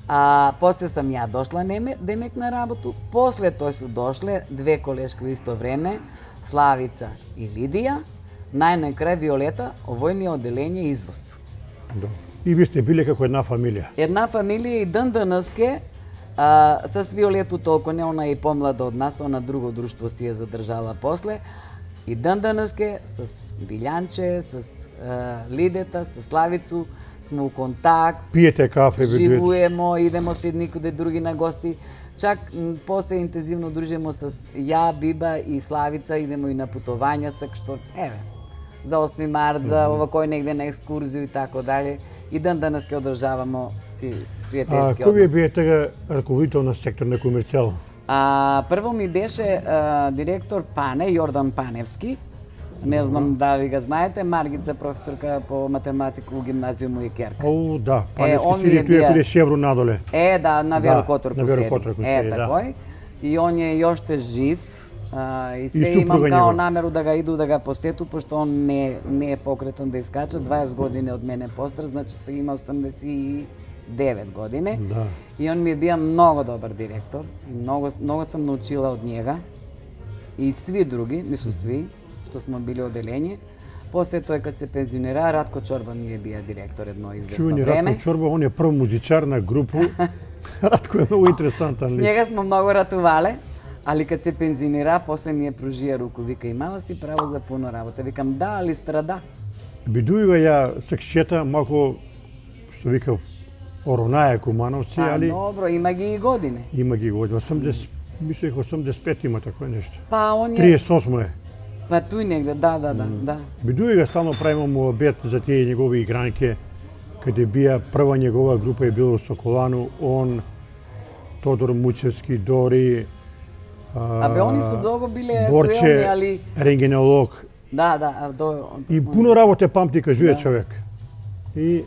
B: А после сам ја дошла неме, демек на работу, после тој су дошле две колешки во исто време, Славица и Лидија, најнакрај Виолета, овој ни е оделение извоз.
A: Добро. И ви сте биле како една фамилија.
B: Една фамилија и ден денеске, а, с Виолету толку не, она е и помлада од нас, она друго друштво си е задржала после. И ден денеске с Билјанче, с а, Лидета, с Славицу, сме у контакт,
A: Пиете кафе,
B: живуемо, идемо се никоде други на гости. Чак м, после интензивно дружимо с ја, Биба и Славица, идемо и на путувања, сак што, еве, за осми март, за овакој негде на екскурзију и тако дале. И ден денес ќе одржавамо си
A: А
B: пријателски
A: кој ви
B: однос.
A: бие тега раководител на сектор на комерцијал?
B: А, прво ми беше а, директор Пане, Јордан Паневски. Не знам дали ga знаете, Маргица, професорка по математика у гимназиуму и Керка.
A: Оу, да,
B: Е,
A: Паневски
B: он
A: седи
B: ми е
A: туја
B: бија-
A: каде Шевро надоле.
B: Е, да, на
A: Да,
B: Веро Которку
A: на Веро
B: седи.
A: Которку
B: Е,
A: седи, да.
B: такој. И он е јоште жив. А, и се
A: И
B: имам
A: супруга
B: као
A: негова.
B: намеру да ga иду да ga посету, пошто он не, не е покретен да искача, дваесет години од мене постар, значи се има осамдесет и девет години.
A: Да.
B: И он ми е бија многу добар директор. И многу, многу сам научила од njega. И сви други, мислу сви, што смо били оделение. После тој кад се пензионира, Радко Чорба ми е бија директор едно известно
A: Чувани
B: време.
A: Радко Чорба, он е прв музичар на групу. Радко е многу интересантан
B: С
A: лик.
B: njega smo mnogo ратувале, али кад се пензионира, после ми е пружија руку, вика, имала си право за пуно работа. Викам, да, али страда.
A: Бидујува ја секшета малку, што викав, оронаја Кумановци,
B: А,
A: али
B: добро, има ги и години.
A: има ги години. осамдесет, мислех осамдесет и пет има такво нешто.
B: Па он е,
A: триесет и осмо е.
B: па туј негде, да, да, да, да.
A: Бидујува стално правиме му обед за тие негови игранки, каде бија прва негова група е било Соколану, он, Тодор Мучевски, Дори, а,
B: Абе, они су долго биле
A: Борче,
B: актуелни, али...
A: рентгенолог.
B: Да, да, а до...
A: И пуно работе памти, кажуе
B: Да.
A: човек. И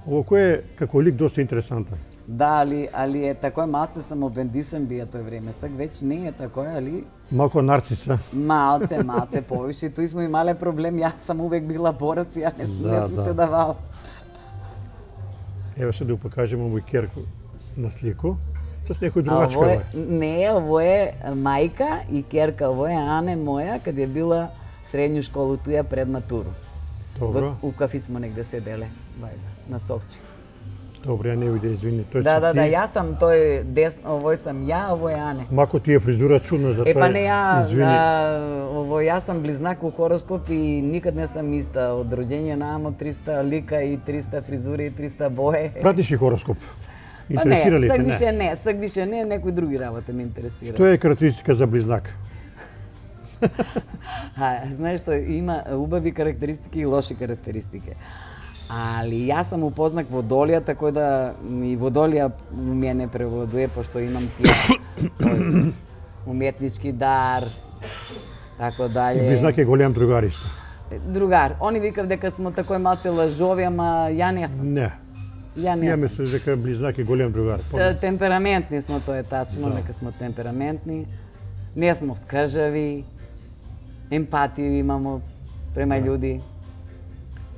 A: ово е како лик доста интересантен.
B: Да, али, али е такој малце самобендисен бија тој време. Сак веќе не е такој, али
A: Малко нарциса.
B: малце, малце повише. Тој смо имале проблем, јас сам увек била борец, ја не,
A: Да,
B: не сум
A: да.
B: се давала.
A: Еве се да го покажеме овој керко на слику. С некој
B: А
A: другачка
B: ово е,
A: е.
B: не, ово е мајка и керка, ово е Ане моја, кад е била средњу школу туја пред матуру.
A: Добро,
B: Во, у кафи смо негде седеле, вајда, на Сокчи.
A: добро, ја не виде, извини. Тој
B: Да,
A: си
B: да,
A: ти.
B: да, јас сам тој десно, овој сам ја, овој е Ане.
A: Мако ти е фризура чудна за
B: Е,
A: тоа.
B: па не ја,
A: Извини.
B: а, ово, јас сум близнак у хороскоп и никад не сам иста. Од роѓење наамо триста лика и триста фризури и триста боje.
A: Пратиш и хороскоп?
B: Па не,
A: Интересира ли
B: сак
A: те?
B: више
A: Не.
B: не, сак више не, некои други работи ме интересира.
A: Што е карактеристика за близнак?
B: А, знаеш што, има убави карактеристики и лоши карактеристики. Али јас сам упознак Водолијата, кој да и Водолија у мене превладува, пошто имам тие тој, уметнички дар, тако дале.
A: Близнак е голем другар исто.
B: Другар, они викав дека смо такој малце лажови, ама ја не сум.
A: Не.
B: Ја не
A: Ја
B: сум.
A: мислам дека близнак е голем другар.
B: Т- Темпераментни смо, тоа е тачно,
A: Да.
B: дека смо темпераментни. Не смо скржави, емпатија имамо према људи.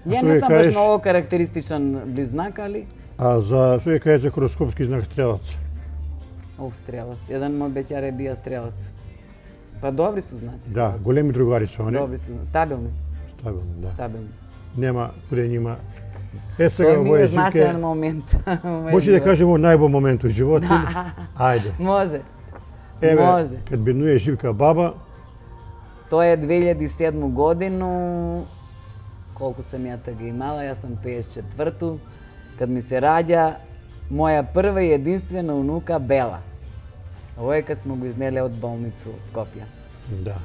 B: Ја
A: што
B: не
A: ја
B: сум баш
A: кажеш-
B: многу карактеристичен близнак, али
A: А за што ја каже за хороскопски знак стрелац?
B: ох, стрелац. Еден мој беќар е бија стрелац. Па добри су знаци.
A: Да,
B: стрелаци.
A: големи другари се они.
B: Добри су, стабилни,
A: Стабилно, да.
B: стабилни.
A: Нема куде нима. Е сега
B: Тој ми
A: овој
B: е
A: е
B: значаен
A: Живке.
B: момент. во мојот
A: Може да
B: живот.
A: кажеме најбо момент у животот. Ајде.
B: Може.
A: Еве,
B: Може.
A: кад беднуе Живка баба,
B: Тоа е две илјади и седма годину, колку сам ја тага имала, јас сум пеесет и четврту, кад ми се раѓа моја прва и единствена унука Бела. Ово е кад смо го изнеле од болницу од Скопје.
A: да.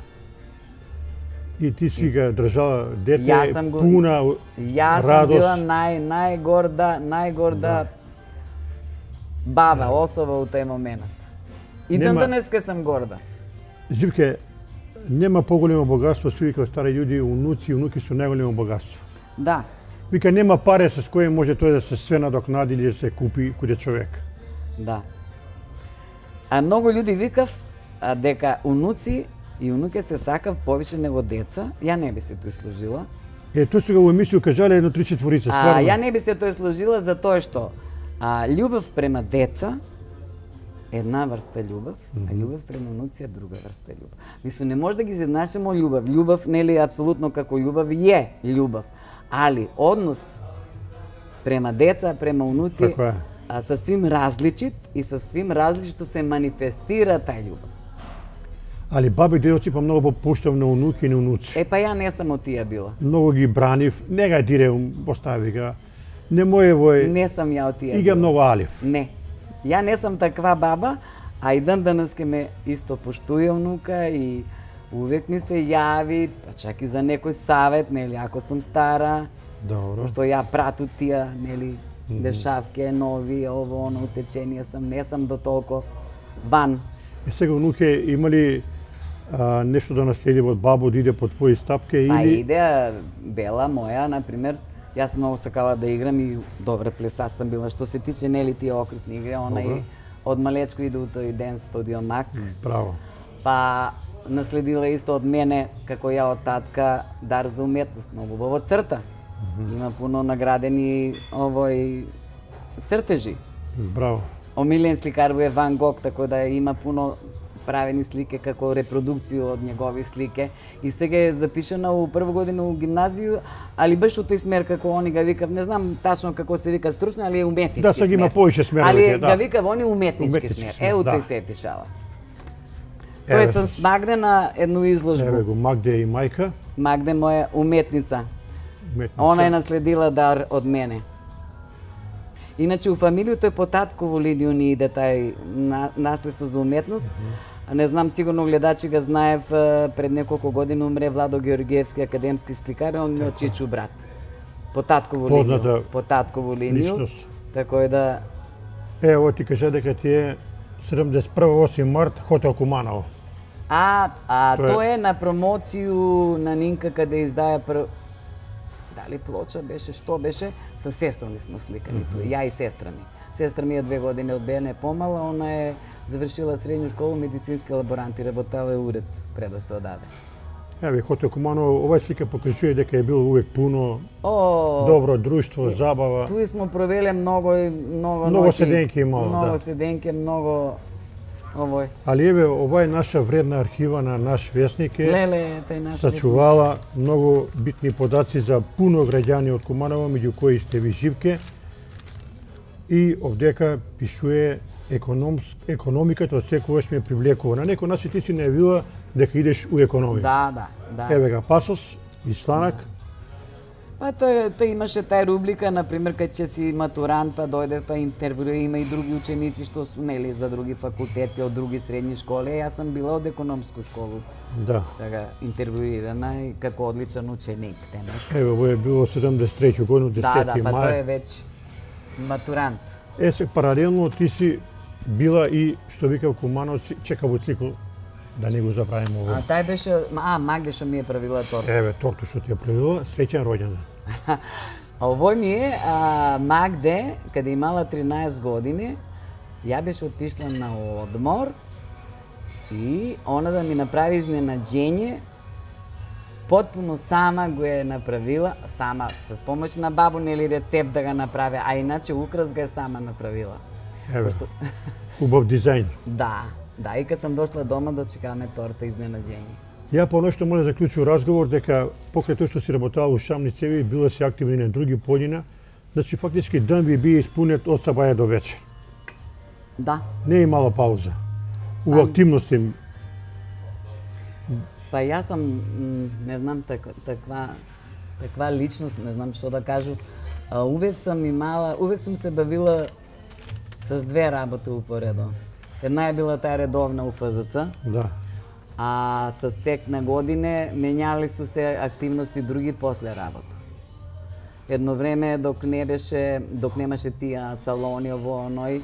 A: И ти си ga држала дете
B: Јас сам го-
A: пуна
B: Јас сам
A: радост.
B: била нај најгорда, најгорда баба, особа у тој момент. И ден
A: Нема-
B: денеска сам горда.
A: Живке, нема поголемо богатство, си вика стари људи, унуци и унуки се најголемо богатство.
B: Да,
A: Вика, нема паре с кои може тој да се све надокнади или да се купи куде човек.
B: да. А многу луѓе викав а, дека унуци и унуке се сакав повише него деца. Ја не би се тој сложила.
A: Е, тоа сега во емисију кажале едно три четворица,
B: А,
A: стварно.
B: ја не би се тој сложила за тоа што а, љубов према деца една врста љубов, а љубов према унуци е друга врста љубов. Мислам, не може да ги изеднашимо љубов. Љубов нели апсолутно како љубов е љубов, али однос према деца, према унуци
A: Така е.
B: а, сасвим различит и сасвим различито се манифестира тај љубов.
A: Али баби и дедоци па многу попуштав на унуки и на унуци.
B: Е, па ја не сам од тие била.
A: Многу ги бранив, не га дире, остави ga. Не мој вој,
B: Не сам ја од тие
A: и га
B: била.
A: многу алив.
B: Не. Ја не сам таква баба, а и ден денеска ме исто поштуе внука и увек ми се јави, па чак и за некој савет, нели, ако сум стара,
A: Добро.
B: што ја прату тие, нели, дешавке, нови, ово, оно, утеченија сам, не сам до толку ван.
A: И сега унуке има ли а, нешто да наследи од бабо, да иде по твои стапке
B: Па
A: или...
B: иде Бела моја, например, јас сум многу сакала да играм и добра плесач сам била. Што се тиче нели тие окрутни игри, она
A: Добро.
B: и од малечко иде у тој ден студио Мак.
A: Браво.
B: Па наследила исто од мене, како ја од татка, дар за уметност, многу во црта. Има пуно наградени овој цртежи.
A: Браво.
B: Омилен сликар во е Ван Гог, така да има пуно правени слike како репродукција од негови слike. И сега е запишана у прва година у гимназију, али баш у тој смер како они га викав, не знам тачно како се вика стручно, али е уметнички
A: Да,
B: смер.
A: сега има повеќе смерови,
B: Али
A: да.
B: га викав они уметнички
A: Уметнички
B: смер.
A: смер,
B: Е, у
A: да.
B: тој се е пишала.
A: Еве,
B: Тој сам с Магде на едну изложбу.
A: Еве го Магде и мајка.
B: Магде моја уметница.
A: Уметница.
B: Она е наследила дар од мене. Иначе у фамилијата е по татково линију ни иде тај на, наследство за уметност. А не знам, сигурно гледачи га знаев, е, пред неколку години умре Владо Георгиевски, академски сликар, он ми од Чичу брат. По татково
A: Позната
B: линију. По татково линију.
A: личност.
B: Така е да...
A: Ево ти кажа дека ти е седумдесет и прва осми март хотел Куманово.
B: А, а
A: Тоа е-
B: тоа е на промоцију на Нинка каде издаја пр... Дали плоча беше, што беше? Со сестра ми смо сликани туа, ја и сестра ми. Сестра ми е две години од мене помала, она е завршила средњу школу, медицински лаборант и работела е уред пред да се одаде.
A: Еве хотел Куманово, оваа слика покажува дека е било увек пуно,
B: О,
A: добро друштво, забава.
B: туи смо провеле многу и многу
A: Многу
B: ноќи.
A: седенки имало,
B: Многу
A: да.
B: седенки, многу овој.
A: Али еве, ова е наша вредна архива на наш весник е.
B: Леле, тај наш
A: Сачувала многу битни подаци за пуно граѓани од Куманово, меѓу кои сте ви Живке. И овдека пишува економс, економиката од секогаш ме привлекува. На некој начин ти си најавила дека идеш у економија.
B: Да, да, да.
A: Еве га пасос и чланак.
B: Па тој, тој имаше тај рубрика, например, кај ќе си матурант, па дојде па интервјуира, има и други ученици што су нели за други факултети, од други средни школи. Јас сам била од економску школу,
A: Да.
B: така интервјуирана и како одличен ученик, темек.
A: Еве, во е било седумдесет и трета година,
B: Да,
A: десети
B: да, па тој
A: мај.
B: е веќе матурант.
A: Е, се паралелно ти си била и, што викав Кумановци, чека во цикл, да не го забравиме
B: А
A: ово.
B: тај беше, а, Магде што ми е правила торта.
A: Еве, торту што ти ја правила, среќен роѓендан.
B: А овој ми е а, Магде, каде имала тринаесет години, ја беше отишла на одмор и она да ми направи изненаđenje, потпуно сама го е направила, сама, с помоќ на бабу, нели рецепт да го направи, а иначе украс го е сама направила.
A: Еве, убав дизајн.
B: Да, да, и кога сам дошла дома да чекаме торта изненаđenje.
A: Ја по нешто може да заклучу разговор дека покрај тоа што си работала у Шамни цеви, била си активни на други полина, значи фактички ден ви бие испунет од сабаја до вечер.
B: Да,
A: Не е мала пауза. У активности.
B: па јас сам, м, не знам, так, таква, таква личност, не знам што да кажу. А, увек сам имала, увек сам се бавила с две работи упоредо. Една е била таа редовна у ФЗЦ,
A: Да.
B: А со стек на године менјали су се активности други после работа. Едно време док не беше, док немаше тие салони ово оној,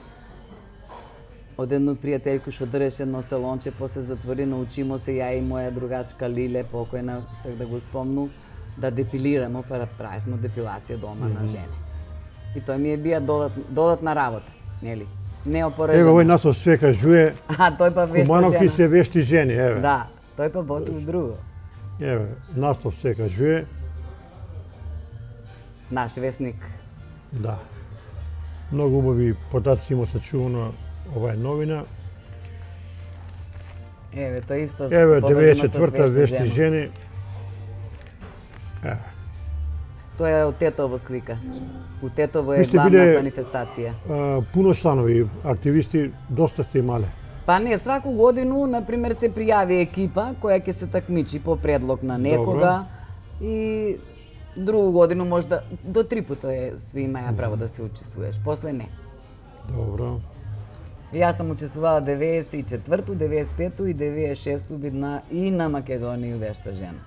B: од едно пријателјко што држеше едно салонче, после затвори, научимо се ја и моја другачка Лиле, покојна, сак да го спомну, да депилираме, па прависмо депилација дома mm-hmm. на жени. И тој ми е бија додат, додатна работа, нели? Не опорежено.
A: Ево, овој наслов све кажуе,
B: а, тој па вешта
A: Кумановки
B: жена.
A: се вешти жени, еве.
B: Да, тој па после друго.
A: Еве, наслов све кажуе.
B: Наш вестник.
A: Да. Многу убави податци има сачувано оваа новина.
B: Еве, тој исто
A: Еве,
B: поврзано
A: деветдесет и
B: со
A: четврта
B: свешта
A: вешти
B: жена.
A: жени. Еве.
B: Тоа е од Тетово слика. У Тетово е
A: Ви сте
B: главна
A: биле,
B: манифестација.
A: А, пуно чланови, активисти, доста сте имале.
B: Па не, сваку годину, например, се пријави екипа која ќе се такмичи по предлог на некога. Добро. И другу годину можда до три пута е, се имаја право да се учествуваш, после не.
A: Добро.
B: Јас сам учествувала деветдесет и четврту, деветдесет и пету и деветдесет и шесту бидна и на Македонија вешта жена.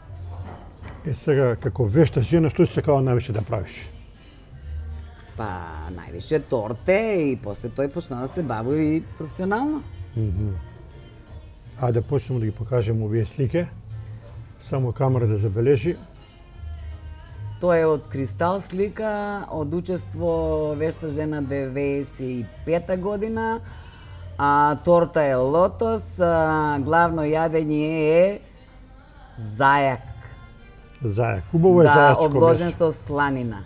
A: Е сега, како вешта жена, што си сакала највише да правиш?
B: Па, највише торте и после тој почна да се бави и професионално.
A: Mm-hmm. А да почнемо да ги покажеме овие слики. Само камера да забележи.
B: Тоа е од Кристал слика, од учество вешта жена деветдесет и пета година, а торта е лотос, а главно јадење е зајак.
A: Зајак. Убаво е
B: да,
A: зајачко
B: обложен
A: месо.
B: со сланина.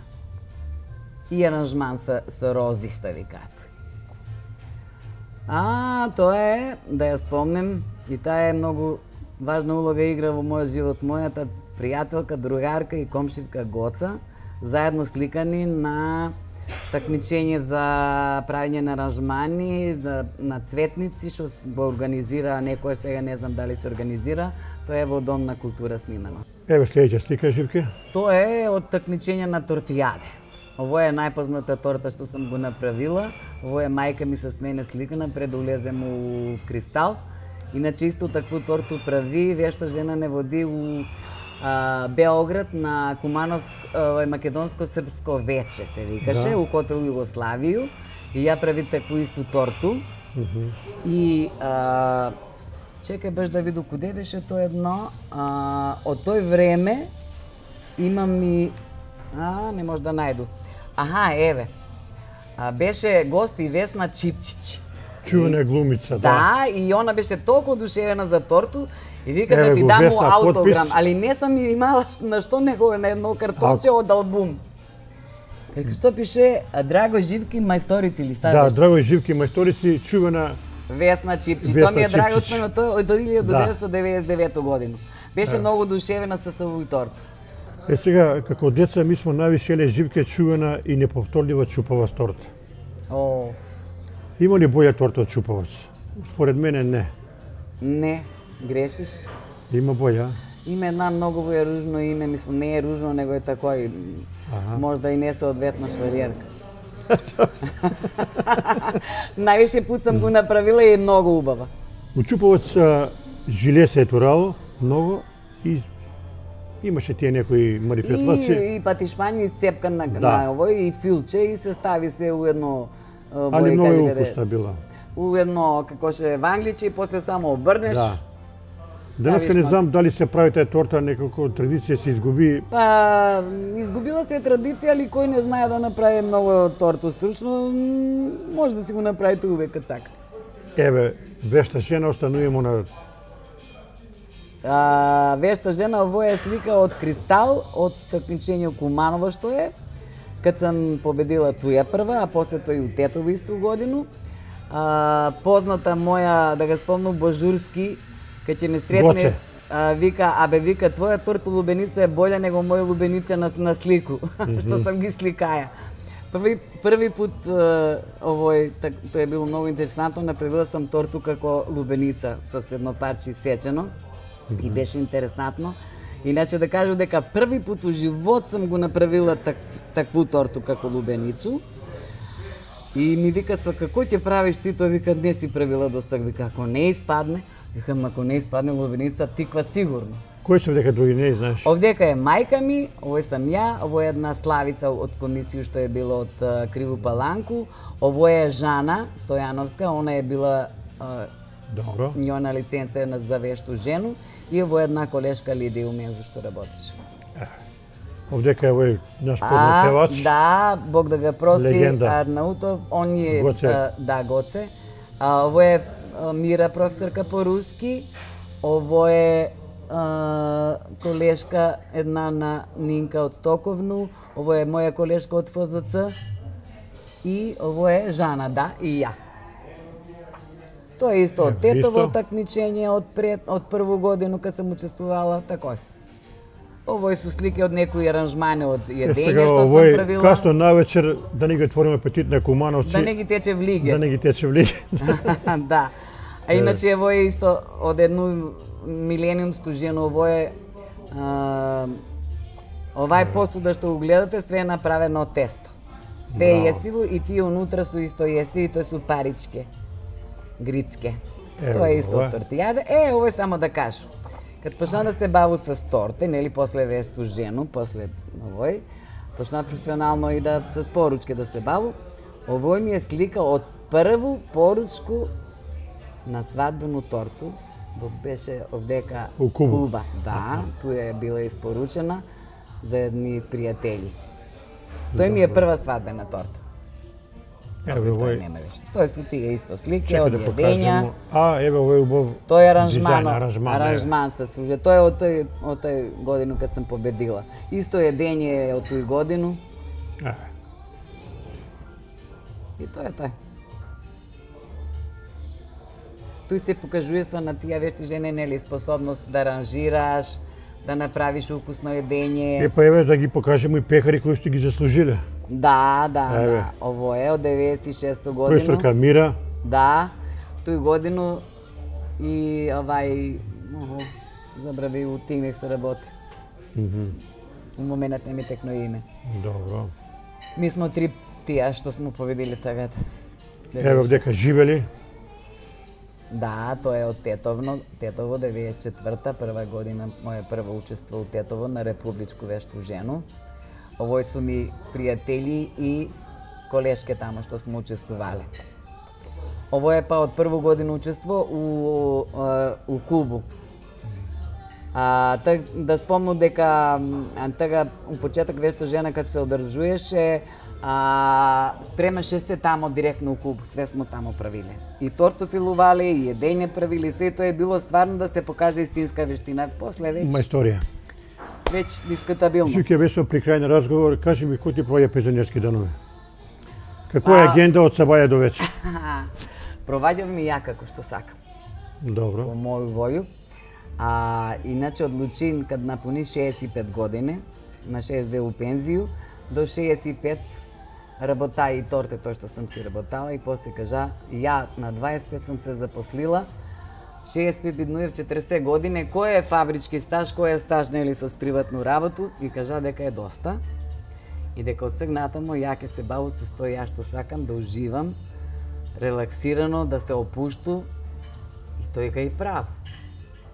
B: И аранжман со, со рози, што викаат. А, тоа е, да ја спомнем, и таа е многу важна улога игра во мојот живот, мојата пријателка, другарка и комшивка Гоца, заедно сликани на такмичење за правење на аранжмани, за, на цветници, што го организира некој, сега не знам дали се организира, тоа е во Дом на култура снимано.
A: Еве следеќа слика, Живке.
B: Тоа е од такмичење на тортијаде. Ово е најпозната торта што сум го направила. Ово е мајка ми со мене сликана пред да улезем у Кристал. Иначе исто такву торту прави вешта жена не води у а, Београд на Кумановско, а, македонско-српско вече се викаше, да. У Котел Југославију. И ја прави такву исту торту.
A: Mm-hmm.
B: И а, чекај баш да виду куде беше тоа едно. А, од тој време имам и а, не може да најду. Аха, еве. А, беше гост и Весна Чипчич.
A: Чувена глумица, да.
B: Да, и она беше толку одушевена за торту и вика
A: Еве
B: да ти
A: го,
B: дам му
A: Весна,
B: аутограм,
A: потпис.
B: али не сам имала на што него на едно картонче од албум. Како што пише Драго Живки мајсторици или шта
A: Да,
B: беше?
A: Драго Живки мајсторици, чувена.
B: Весна Чипчич.
A: Весна
B: Тоа ми е драго
A: Чипчич.
B: спомено, тој од деветнаесет
A: Да.
B: деветдесет и девета година. Беше
A: Да.
B: многу одушевена со овој торт.
A: Е сега, како деца, ми смо највише еле Живке чувена и неповторлива чупава торта.
B: О,
A: Има ли боја торта од чупаваc? Според мене не.
B: не, грешиш.
A: Има боја.
B: Има една многу е ружно име, мислам, не е ружно, него е такој,
A: Аха.
B: можда и не соодветно швалиерка. Највише пат сам го направила и е многу убава.
A: У чупаваc а, жиле се е турало многу и имаше тие некои марифетлаци.
B: И, и патишпање исцепкан на,
A: Да.
B: на овој и филче и се стави се у едно а,
A: Али
B: бој,
A: многу
B: кажи
A: е
B: каде-
A: укусна била.
B: у едно како ше вангличе и после само обрнеш.
A: Да. Денеска не
B: ставиш
A: знам дали се прави таа торта, некако традиција се изгуби.
B: Па, изгубила се традиција, али кој не знае да направи многу торту стручно, м, може да си го направите увек кад сака.
A: Еве, вешта жена остануваме на
B: А, вешта жена, ово е слика од Кристал, од такмичење Куманово што е, кад сам победила туја прва, а после тој у Тетово исту годину. А, позната моја, да го спомнам, Божурски, кај ќе ме сретне,
A: Гоце.
B: а, вика, абе вика, твоја торта лубеница е болја него моја лубеница на, на слику, што сам ги сликаја. Први, први пут а, овој, так, тоа е било многу интересантно, направила сам торту како лубеница со едно парче исечено. И беше интересантно. Иначе да кажу дека први пат у живот сам го направила так, такву торту како лубеницу. И ми вика, са, како ќе правиш ти, тој вика, не си правила до сега, вика, ако не испадне, викам, ако не испадне лубеница, тиква сигурно.
A: Кој се дека други не знаеш?
B: Овдека е мајка ми, овој сам ја, овој е една Славица од комисија што е била од uh, Криву Паланку, овој е Жана Стојановска, она е била uh,
A: Добро.
B: Njona лиценца е на за вешту жену и овој една колешка Лидија Умензо што работеше.
A: Овдека е овој наш познат певач.
B: Да, Бог да го прости,
A: Легенда.
B: Арнаутов, он е
A: Гоце.
B: а, да, Гоце. А, овој е а, Мира, професорка по руски, овој е а, колешка една на Нинка од Стоковну, овој е моја колешка од Ф З Ц и овој е Жана, да, и ја. Тоа е исто од тетово такмичење од пред од прву годину кога сум учествувала, такој. Овој су слики од некои аранжмани од једење што сум правила.
A: Касно навечер да не ги отвориме апетит на Кумановци.
B: Да не ги тече влиге.
A: Да не ги тече влиге.
B: Да. А иначе овој е исто од едну милениумску жену, овој е а, овај посуда што го гледате све е направено од тесто. Све е јестиво и тие унутра су исто јестиви, тоа су паричке. Грицке. Тоа е исто од тортијаде. Е, овој само да кажу. Кад почна да се баву с торте, нели, после весту жену, после овој, почна професионално и да с поручке да се баву, овој ми е слика од прву поручку на свадбену торту, во беше овдека
A: У Куба.
B: Куба. Да, туја е била испоручена за едни пријатели. Тој ми е прва свадбена торта.
A: Еве овој.
B: Тоа су тие исто слики од јадења.
A: А, еве овој убав.
B: Тој е аранжман,
A: аранжман,
B: аранжман се служи. Тоа е од тој од тој годину кад сум победила. Исто јадење е од тој годину.
A: А.
B: И тоа е тоа. Тој се покажува со на тие вешти жени, нели, способност да аранжираш, да направиш укусно јадење.
A: Е, па еве да ги покажеме и пекари кои што ги заслужиле.
B: Да, да,
A: Еве.
B: да. Ово е од деветдесет и шесто годину.
A: Професорка Мира.
B: Да, тој годину и овај, охо, забрави у Тинекс се работи.
A: Мгм.
B: У моментот не ми текно име.
A: Добро.
B: Ми смо три тие што смо победили тагата.
A: Еве овдека живели.
B: Да, тоа е од Тетовно, Тетово деветдесет и четврта, прва година, моја прва учество у Тетово на републичку вешту жену. Овој су ми пријатели и колешке тамо што сме учествувале. Овој е па од прво година учество у, у Кубу. А, так, да спомну дека така, у почеток вешто жена кад се одржуваше, а, спремаше се тамо директно у Кубу, све смо тамо правиле. И торто филувале, и једење правиле, се тоа е било стварно да се покаже истинска вештина. После веќе...
A: Има историја.
B: Веќе дискутабилно.
A: Сите беше при крај на разговор, кажи ми кој ти проваѓа пензионерски данови? Каква е агенда од сабаја до вечер?
B: Проваѓав ми ја како што сакам.
A: Добро.
B: По моју волју. А иначе одлучин кад напуни шеесет и пет години, на шеесет две у пензију, до шеесет и пет работа и торте тоа што сум си работала и после кажа, ја на дваесет и пет сум се запослила, шеесет и пет биднуев четиресет години, кој е фабрички стаж, кој е стаж нели со приватну работу и кажа дека е доста и дека од сега натаму ја ќе се бавам со тоа ја што сакам да уживам, релаксирано, да се опушту и тој ка и право.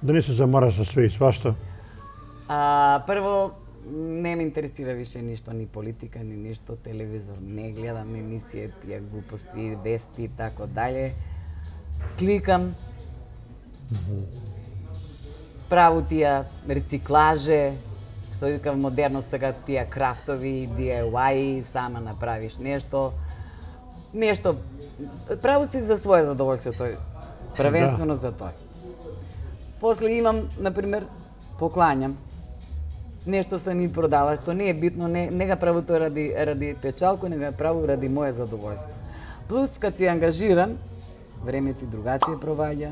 A: Да не се замара со све и свашта?
B: А, прво, не ме интересира више ништо, ни политика, ни ништо, телевизор не гледам, емисија, тие глупости, вести и тако дале. Сликам, праву тие рециклаже, што вика модерно сега тие крафтови, ди ај уај, сама направиш нешто. Нешто, праву си за своје задоволство тој, првенствено за тој. После имам, например, поклањам. Нешто се ми продава, што не е битно, не, не га праву тоа ради, ради печалко, не га праву ради моје задоволство. Плюс, кад си ангажиран, време ти другачие проваѓа,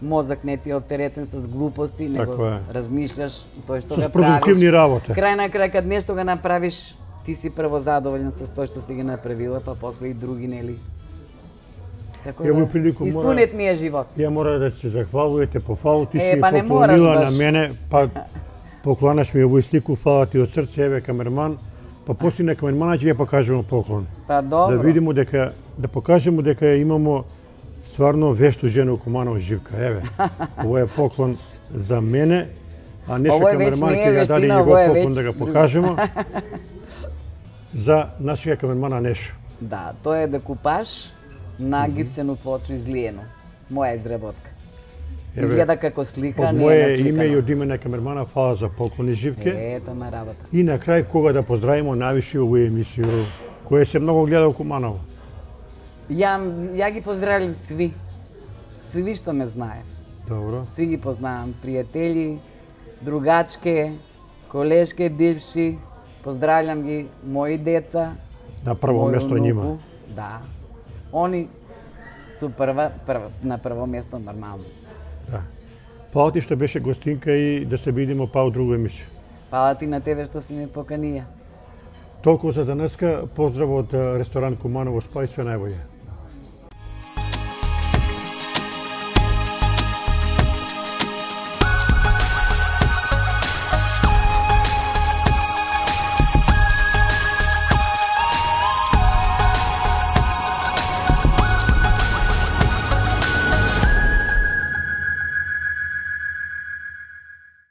B: мозок не ти е оптеретен с глупости, него размишљаш тој што
A: га
B: правиш. С
A: продуктивни работи.
B: Крај на крај, кад нешто га направиш, ти си прво задоволен со тоа што си ги направила, па после и други, нели? Така да, испунет ми е живот.
A: Ја мора да се захвалувате по фалу, ти
B: е,
A: си
B: па
A: поклонила на мене, па поклонаш ми овој слику, фала ти од срце, еве камерман, па после на камермана ќе ја покажеме поклон.
B: Па добро.
A: Да видиме дека да покажеме дека имамо стварно вешто жена у Куманово Живка. Еве. Ово е поклон за мене, а Неша камерман ќе ја даде негов поклон да го покажеме. За нашиот камермана Нешо.
B: Да, тоа е декупаж на гипсено плочо излиено. Моја изработка. Изгледа како слика, не е насликано.
A: Од моје име и од име на камермана, фала за поклони Живке.
B: Ето ме работа.
A: И на крај кога да поздравиме највише овој емисија, која се многу гледа у Куманово.
B: Ја, ја ги поздравив сви. Сви што ме знае.
A: Добро.
B: Сви ги познавам. Пријатели, другачке, колешке, бивши. Поздравljam ги мои деца.
A: На прво место нима.
B: Да. Они су прва, прва, на прво место нормално.
A: Да. Фала ти што беше гостинка и да се видиме па у друга емисија.
B: Фала ти на тебе што си ме поканија.
A: Толку за денеска, поздрав од ресторан Куманово Спа и све најбоље.